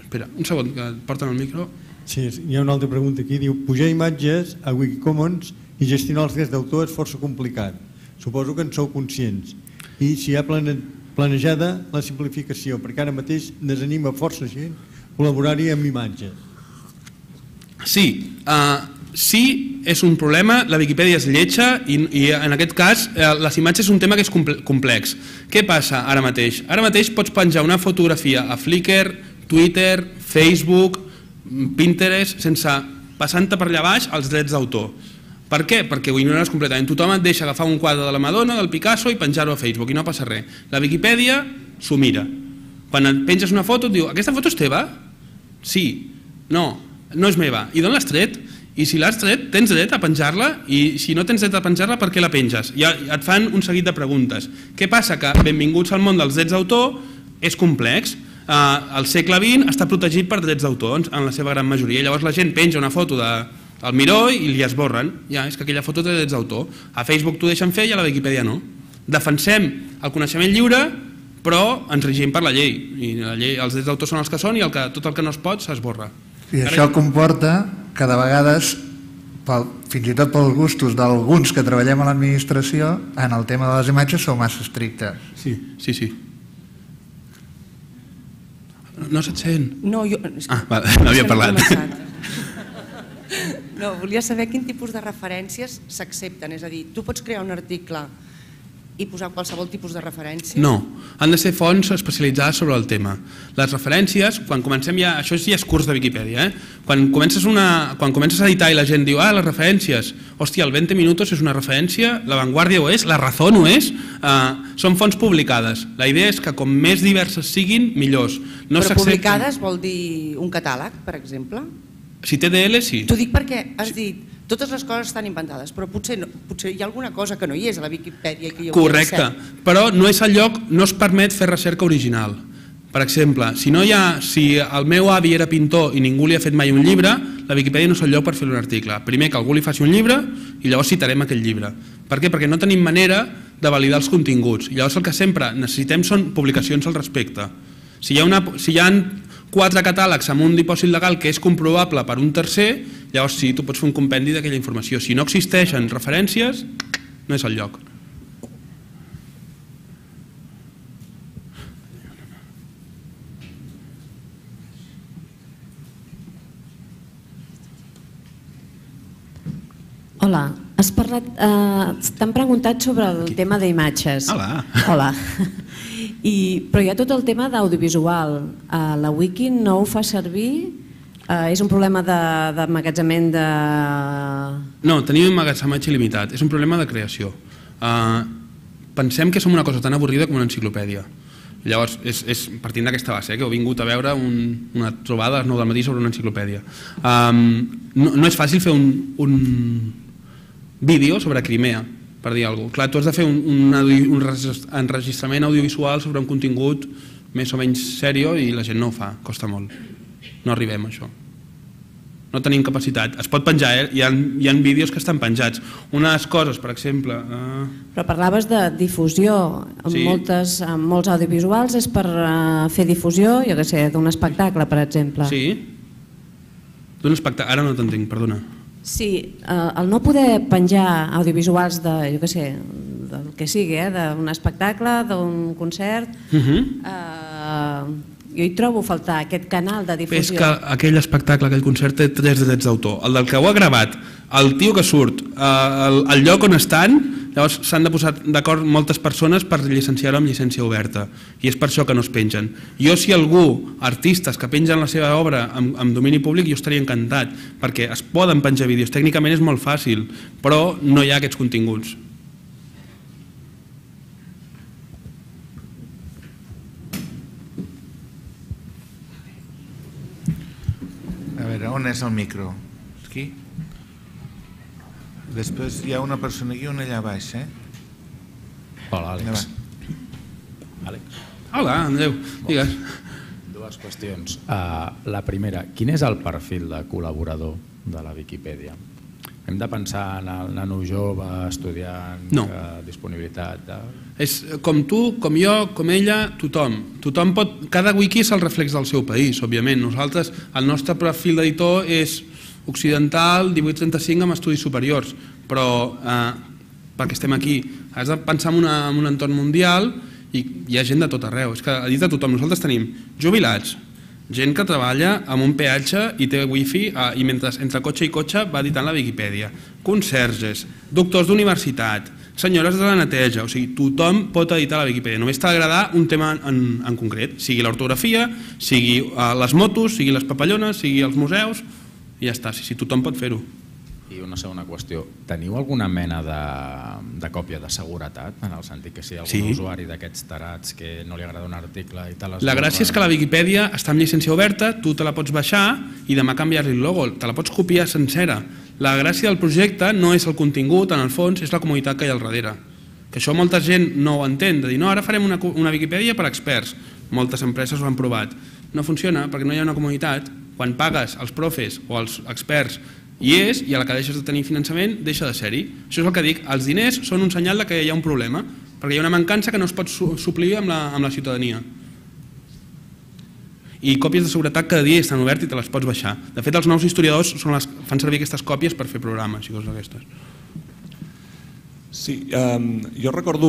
Espera, un segon, que porten el micro. Sí, hi ha una altra pregunta aquí. Diu, pujar imatges a Wikicommons i gestionar els drets d'autor és força complicat. Suposo que en sou conscients. I si hi ha planejada la simplificació, perquè ara mateix desanima força gent col·laborar-hi amb imatges. Sí, sí, és un problema, la Viquipèdia és lletja i en aquest cas les imatges és un tema que és complex. Què passa ara mateix? Ara mateix pots penjar una fotografia a Flickr, Twitter, Facebook, Pinterest, sense passant-te per allà baix els drets d'autor. Per què? Perquè ho ignores completament. Tothom et deixa agafar un quadre de la Madonna, del Picasso i penjar-ho a Facebook i no passa res. La Viquipèdia s'ho mira. Quan et penges una foto et diu, aquesta foto és teva? Sí. No és meva. I d'on l'has tret? I si l'has tret, tens dret a penjar-la, i si no tens dret a penjar-la, per què la penges? I et fan un seguit de preguntes. Què passa? Que benvinguts al món dels drets d'autor és complex. El segle XX està protegit per drets d'autor en la seva gran majoria. Llavors la gent penja una foto del Miró i li esborren. Ja, és que aquella foto té drets d'autor. A Facebook t'ho deixen fer i a la Viquipèdia no. Defensem el coneixement lliure, però ens regim per la llei. I els drets d'autor són els que són i tot el que no es pot s'esborra. I això comporta que de vegades, fins i tot pels gustos d'alguns que treballem a l'administració, en el tema de les imatges sou massa estrictes. Sí. No se't sent? No, jo... No havia parlat. No, volia saber quin tipus de referències s'accepten. És a dir, tu pots crear un article i posar qualsevol tipus de referència? No, han de ser fonts especialitzades sobre el tema. Les referències, quan comencem ja... Això ja és curs de Viquipèdia, Quan comences a editar i la gent diu les referències, hòstia, el 20 minutos és una referència, La Vanguardia ho és, La Razón ho és, són fonts publicades. La idea és que com més diverses siguin, millors. Però publicades vol dir un catàleg, per exemple? Si té DL, sí. T'ho dic perquè has dit totes les coses estan inventades, però potser hi ha alguna cosa que no hi és a la Viquipèdia. Correcte, però no és el lloc, no es permet fer recerca original. Per exemple, si el meu avi era pintor i ningú li ha fet mai un llibre, la Viquipèdia no és el lloc per fer un article. Primer que algú li faci un llibre i llavors citarem aquell llibre. Per què? Perquè no tenim manera de validar els continguts. I llavors el que sempre necessitem són publicacions al respecte. Si hi ha 4 catàlegs amb un dipòsit legal que és comprovable per un tercer, llavors sí, tu pots fer un compendi d'aquella informació. Si no existeixen referències, no és el lloc. Hola, t'han preguntat sobre el tema d'imatges. Hola. Però hi ha tot el tema d'audiovisual. La Wiki no ho fa servir És un problema d'emmagatzemament de... No, tenim emmagatzematge il·limitat, és un problema de creació. Pensem que som una cosa tan avorrida com una enciclopèdia. Llavors, és partint d'aquesta base, que heu vingut a veure una trobada a les 9 del matí sobre una enciclopèdia. No és fàcil fer un vídeo sobre Crimea, per dir alguna cosa. Clar, tu has de fer un enregistrament audiovisual sobre un contingut més o menys sèrio i la gent no ho fa, costa molt. No arribem a això. No tenim capacitat. Es pot penjar, hi ha vídeos que estan penjats. Unes coses, per exemple... Però parlaves de difusió. En molts audiovisuals és per fer difusió, jo què sé, d'un espectacle, per exemple. Sí? D'un espectacle... Ara no t'entenc, perdona. Sí, el no poder penjar audiovisuals de, jo què sé, del que sigui, d'un espectacle, d'un concert... Jo hi trobo a faltar aquest canal de difusió. És que aquell espectacle, aquell concert té 3 drets d'autor. El del que ho ha gravat, el tio que surt, el lloc on estan, llavors s'han de posar d'acord moltes persones per llicenciar-ho amb llicència oberta. I és per això que no es pengen. Jo, si algú, artistes que pengen la seva obra amb domini públic, jo estaria encantat, perquè es poden penjar vídeos. Tècnicament és molt fàcil, però no hi ha aquests continguts. A veure, on és el micro? Aquí? Després hi ha una persona aquí i una allà baix, Hola, Àlex. Hola, Andreu, digues. Dues qüestions. La primera, quin és el perfil de col·laborador de la Viquipèdia? Hem de pensar en el nano jove, estudiant, disponibilitat... És com tu, com jo, com ella, tothom. Cada wiki és el reflex del seu país, òbviament. Nosaltres, el nostre perfil d'editor és occidental, 1835 amb estudis superiors, però perquè estem aquí, has de pensar en un entorn mundial i hi ha gent de tot arreu. És que edita tothom. Nosaltres tenim jubilats, gent que treballa amb un peatge i té wifi i mentre entre cotxe i cotxe va editant la Viquipèdia, conserges, doctors d'universitat, senyores de la neteja, o sigui, tothom pot editar la Viquipèdia, només t'ha d'agradar un tema en concret, sigui l'ortografia, sigui les motos, sigui les papallones, sigui els museus, i ja està, sí, tothom pot fer-ho. I una segona qüestió, teniu alguna mena de còpia de seguretat, en el sentit que si hi ha algun usuari d'aquests tarats que no li agrada un article i tal... La gràcia és que la Viquipèdia està amb llicència oberta, tu te la pots baixar i demà canviar-li el logo, te la pots copiar sencera. La gràcia del projecte no és el contingut, en el fons, és la comunitat que hi ha al darrere. Que això molta gent no ho entén, de dir, no, ara farem una Viquipèdia per experts. Moltes empreses ho han provat. No funciona perquè no hi ha una comunitat. Quan pagues als profes o als experts i a la que deixes de tenir finançament deixa de ser-hi. Això és el que dic, els diners són un senyal que hi ha un problema, perquè hi ha una mancança que no es pot suplir amb la ciutadania. I còpies de seguretat cada dia estan obertes i te les pots baixar. De fet, els nous historiadors fan servir aquestes còpies per fer programes i coses d'aquestes. Sí, jo recordo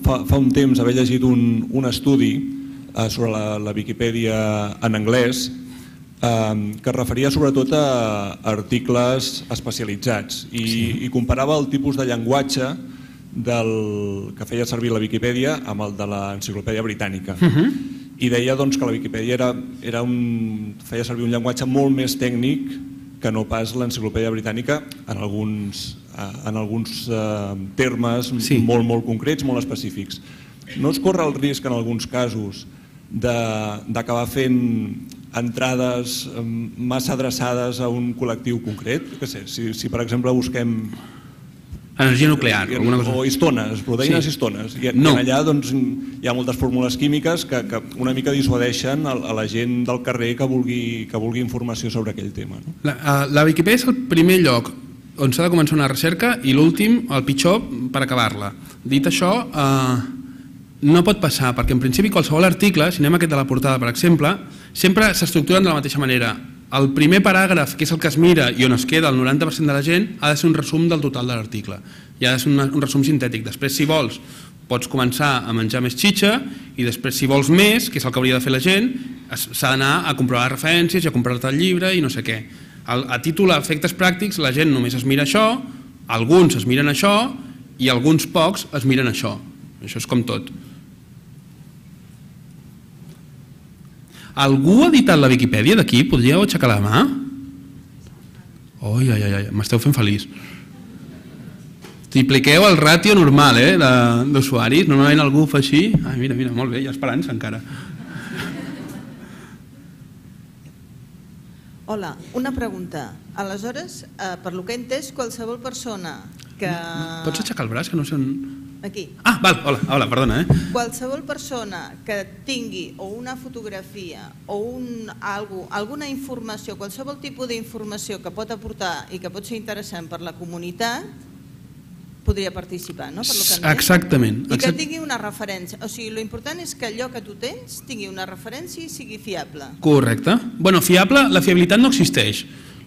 fa un temps haver llegit un estudi sobre la Viquipèdia en anglès que es referia sobretot a articles especialitzats i comparava el tipus de llenguatge que feia servir la Viquipèdia amb el de l'enciclopèdia britànica. I deia que la Viquipèdia feia servir un llenguatge molt més tècnic que no pas l'enciclopèdia britànica en alguns termes molt concrets, molt específics. No es corre el risc en alguns casos d'acabar fent entrades massa adreçades a un col·lectiu concret? Si per exemple busquem... Energia nuclear. O histones, proteïnes histones. I allà hi ha moltes fórmules químiques que una mica dissuadeixen a la gent del carrer que vulgui informació sobre aquell tema. La Viquipèdia és el primer lloc on s'ha de començar una recerca i l'últim, el pitjor, per acabar-la. Dit això, no pot passar, perquè en principi qualsevol article, si anem a aquest de la portada per exemple, sempre s'estructuren de la mateixa manera. El primer paràgraf, que és el que es mira i on es queda el 90% de la gent, ha de ser un resum del total de l'article. I ha de ser un resum sintètic. Després, si vols, pots començar a menjar més xitxa i després, si vols més, que és el que hauria de fer la gent, s'ha d'anar a comprovar referències i a comprar-te el llibre i no sé què. A títol d'efectes pràctics, la gent només es mira això, alguns es miren això i alguns pocs es miren això. Això és com tot. Algú ha editat la Viquipèdia d'aquí? Podríeu aixecar la mà? Oi, m'esteu fent feliç. Tripliqueu el ràtio normal d'usuaris. Normalment algú ho fa així. Ai, mira, molt bé, hi ha esperança encara. Hola, una pregunta. Aleshores, per lo que he entès, qualsevol persona que... Pots aixecar el braç, que no sé on... Aquí. Ah, val, hola, perdona. Qualsevol persona que tingui o una fotografia o alguna informació, qualsevol tipus d'informació que pot aportar i que pot ser interessant per la comunitat, podria participar, no? Exactament. I que tingui una referència. O sigui, l'important és que allò que tu tens tingui una referència i sigui fiable. Correcte. Bueno, fiable, la fiabilitat no existeix.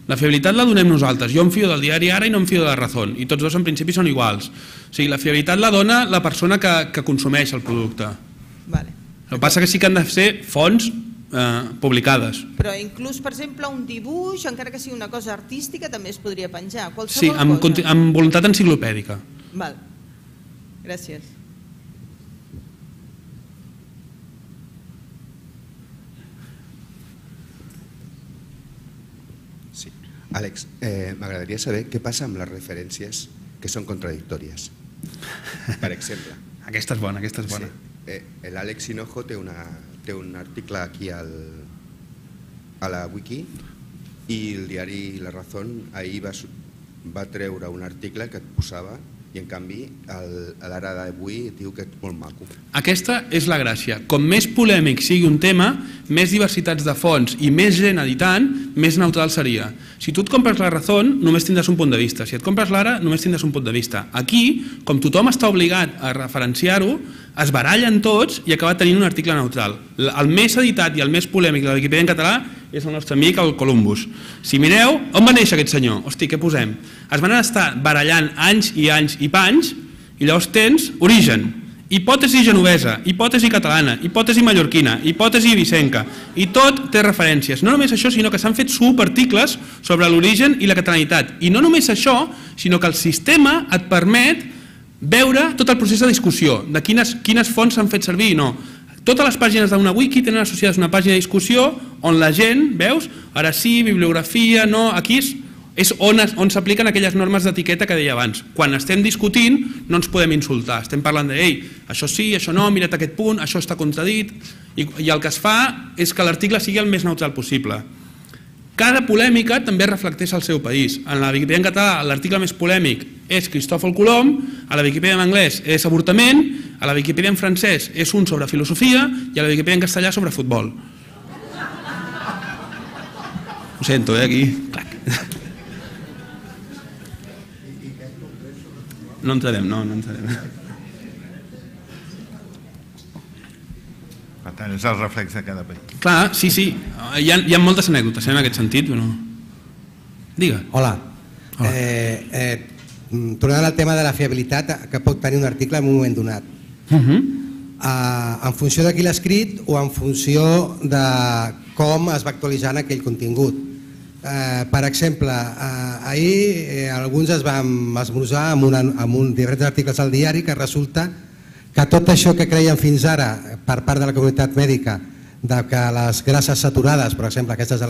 La fiabilitat la donem nosaltres. Jo em fio del diari Ara i no em fio de la Razón. I tots dos en principi són iguals. O sigui, la fiabilitat la dona la persona que consumeix el producte. Vale. El que passa que sí que han de ser fonts publicades. Però inclús, per exemple, un dibuix, encara que sigui una cosa artística, també es podria penjar. Sí, amb voluntat enciclopèdica. Val. Gràcies. Sí. Àlex, m'agradaria saber què passa amb les referències que són contradictòries. Per exemple. Aquesta és bona. Sí. L'Àlex Hinojo té un article aquí a la wiki i el diari La Razón ahir va treure un article que et posava i en canvi a l'Ara d'avui diu que és molt maco. Aquesta és la gràcia. Com més polèmic sigui un tema, més diversitats de fonts i més gent editant, més neutral seria. Si tu et compres La Razón, només tindràs un punt de vista. Si et compres l'Ara, només tindràs un punt de vista. Aquí, com tothom està obligat a referenciar-ho, es barallen tots i acaba tenint un article neutral. El més editat i el més polèmic de la Viquipèdia en català és el nostre amic, el Columbus. Si mireu, on va néixer aquest senyor? Hosti, què posem? Es van estar barallant anys i panys i llavors tens origen, hipòtesi genovesa, hipòtesi catalana, hipòtesi mallorquina, hipòtesi ibicenca, i tot té referències. No només això, sinó que s'han fet subarticles sobre l'origen i la catalanitat. I no només això, sinó que el sistema et permet veure tot el procés de discussió, de quines fonts s'han fet servir i no. Totes les pàgines d'una wiki tenen associades una pàgina de discussió on la gent, veus, ara sí, bibliografia, no, aquí és on s'apliquen aquelles normes d'etiqueta que deia abans. Quan estem discutint no ens podem insultar, estem parlant de, ei, això sí, això no, mira't aquest punt, això està contradit, i el que es fa és que l'article sigui el més neutral possible. Cada polèmica també reflecteix el seu país. En la Viquipèdia en català l'article més polèmic és Cristòfol Colom, a la Viquipèdia en anglès és avortament, a la Viquipèdia en francès és un sobre filosofia i a la Viquipèdia en castellà sobre futbol. Ho sento, aquí. No entrarem. Per tant, és el reflex de cada país. Clar, sí. Hi ha moltes anècdotes en aquest sentit, però... Digue. Hola. Tornant al tema de la fiabilitat que pot tenir un article en un moment donat. En funció de qui l'ha escrit o en funció de com es va actualitzant aquell contingut. Per exemple, ahir alguns es van esmorzar amb diferents articles al diari que resulta que tot això que creien fins ara per part de la comunitat mèdica de que les grasses saturades, per exemple aquestes de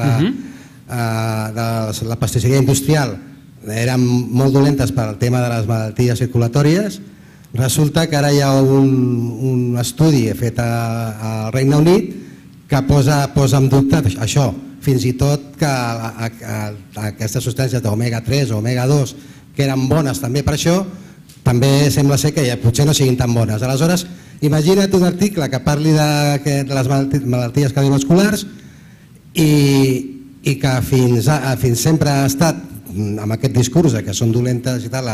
la pastisseria industrial eren molt dolentes per al tema de les malalties circulatòries, resulta que ara hi ha un estudi fet al Regne Unit que posa en dubte això, fins i tot que aquestes substàncies d'omega 3 o omega 2 que eren bones també per això, també sembla ser que potser no siguin tan bones. Aleshores, imagina't un article que parli de les malalties cardiovasculars i que fins sempre ha estat amb aquest discurs que són dolentes i tal,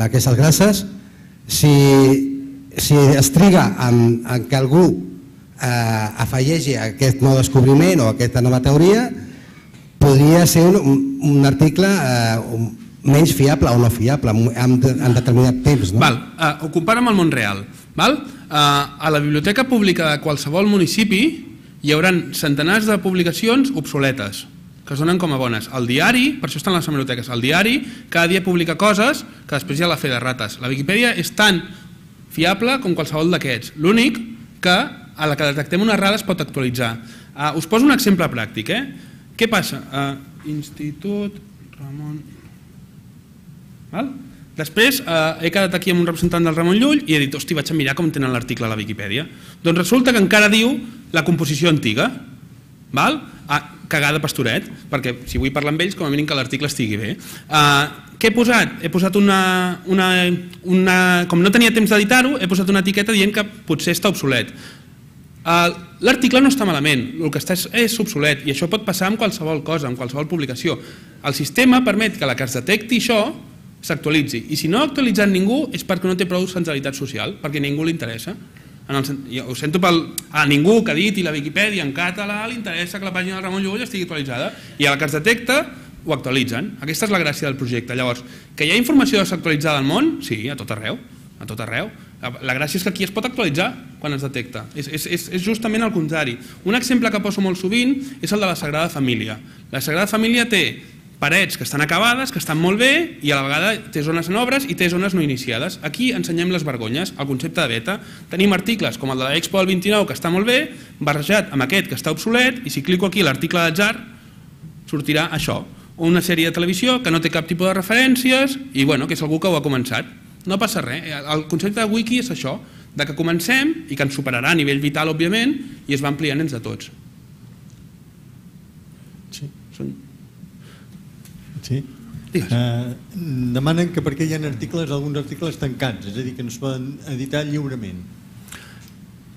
aquestes grasses, si es triga en que algú afegeixi aquest nou descobriment o aquesta nova teoria, podria ser un article menys fiable o no fiable en determinat temps. Ho compara amb el món real. A la biblioteca pública de qualsevol municipi hi haurà centenars de publicacions obsoletes que es donen com a bones. El diari, per això estan les hemeroteques, el diari cada dia publica coses que després hi ha la fe de rates. La Viquipèdia és tan fiable com qualsevol d'aquests. L'únic que a la que detectem una errada es pot actualitzar. Us poso un exemple pràctic. Què passa? Institut Ramon... Després he quedat aquí amb un representant del Ramon Llull i he dit, hosti, vaig a mirar com tenen l'article a la Viquipèdia. Doncs resulta que encara diu la composició antiga. Cagada pastoret, perquè si vull parlar amb ells, com a mínim que l'article estigui bé. Què he posat? He posat com no tenia temps d'editar-ho, he posat una etiqueta dient que potser està obsolet. L'article no està malament, el que està és obsolet, i això pot passar amb qualsevol cosa, amb qualsevol publicació. El sistema permet que la que es detecti això s'actualitzi, i si no ha actualitzat ningú és perquè no té prou centralitat social, perquè a ningú li interessa. Ho sento a ningú que editi la Viquipèdia en català li interessa que la pàgina del Ramon Llull estigui actualitzada, i a la que es detecta ho actualitzen. Aquesta és la gràcia del projecte. Llavors, que hi ha informació desactualitzada al món? Sí, a tot arreu. La gràcia és que aquí es pot actualitzar quan es detecta. És justament el contrari. Un exemple que poso molt sovint és el de la Sagrada Família. La Sagrada Família té parets que estan acabades, que estan molt bé, i a la vegada té zones en obres i té zones no iniciades. Aquí ensenyem les vergonyes, el concepte de beta. Tenim articles com el de l'Expo del 29, que està molt bé, barrejat amb aquest que està obsolet, i si clico aquí l'article d'atzar, sortirà això. Una sèrie de televisió que no té cap tipus de referències i que és algú que ho ha començat. No passa res. El concepte de wiki és això, que comencem i que ens superarà a nivell vital, òbviament, i es va ampliant entre tots. Sí. Demanen que per què hi ha alguns articles tancats, és a dir, que no es poden editar lliurement.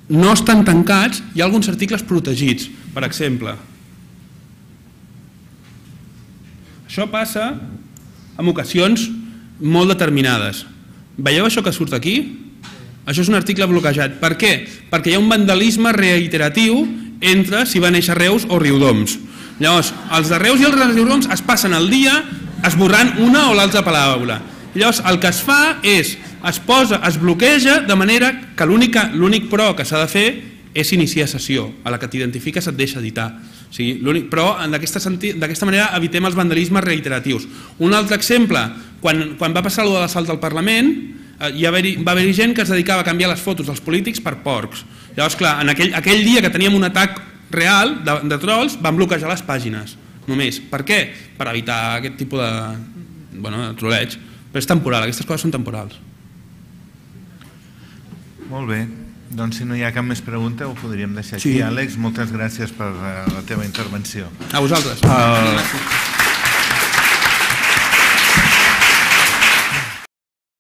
No estan tancats, hi ha alguns articles protegits, per exemple. Això passa en ocasions molt determinades. Veieu això que surt aquí? Això és un article bloquejat. Per què? Perquè hi ha un vandalisme reiteratiu entre si va néixer Reus o Riudoms. Llavors, els de Reus i els de Riudoms es passen el dia esborrant una o l'altra paraula. Llavors, el que es fa és, es bloqueja de manera que l'únic però que s'ha de fer és iniciar sessió. A la que t'identifiques et deixa editar. Però d'aquesta manera evitem els vandalismes reiteratius. Un altre exemple, quan va passar allò de l'assalt al Parlament, va haver-hi gent que es dedicava a canviar les fotos dels polítics per porcs. Llavors, clar, aquell dia que teníem un atac real de trolls, van bloquejar les pàgines, només. Per què? Per evitar aquest tipus de trolleig. Però és temporal, aquestes coses són temporals. Molt bé, doncs si no hi ha cap més pregunta ho podríem deixar aquí. Àlex, moltes gràcies per la teva intervenció. A vosaltres.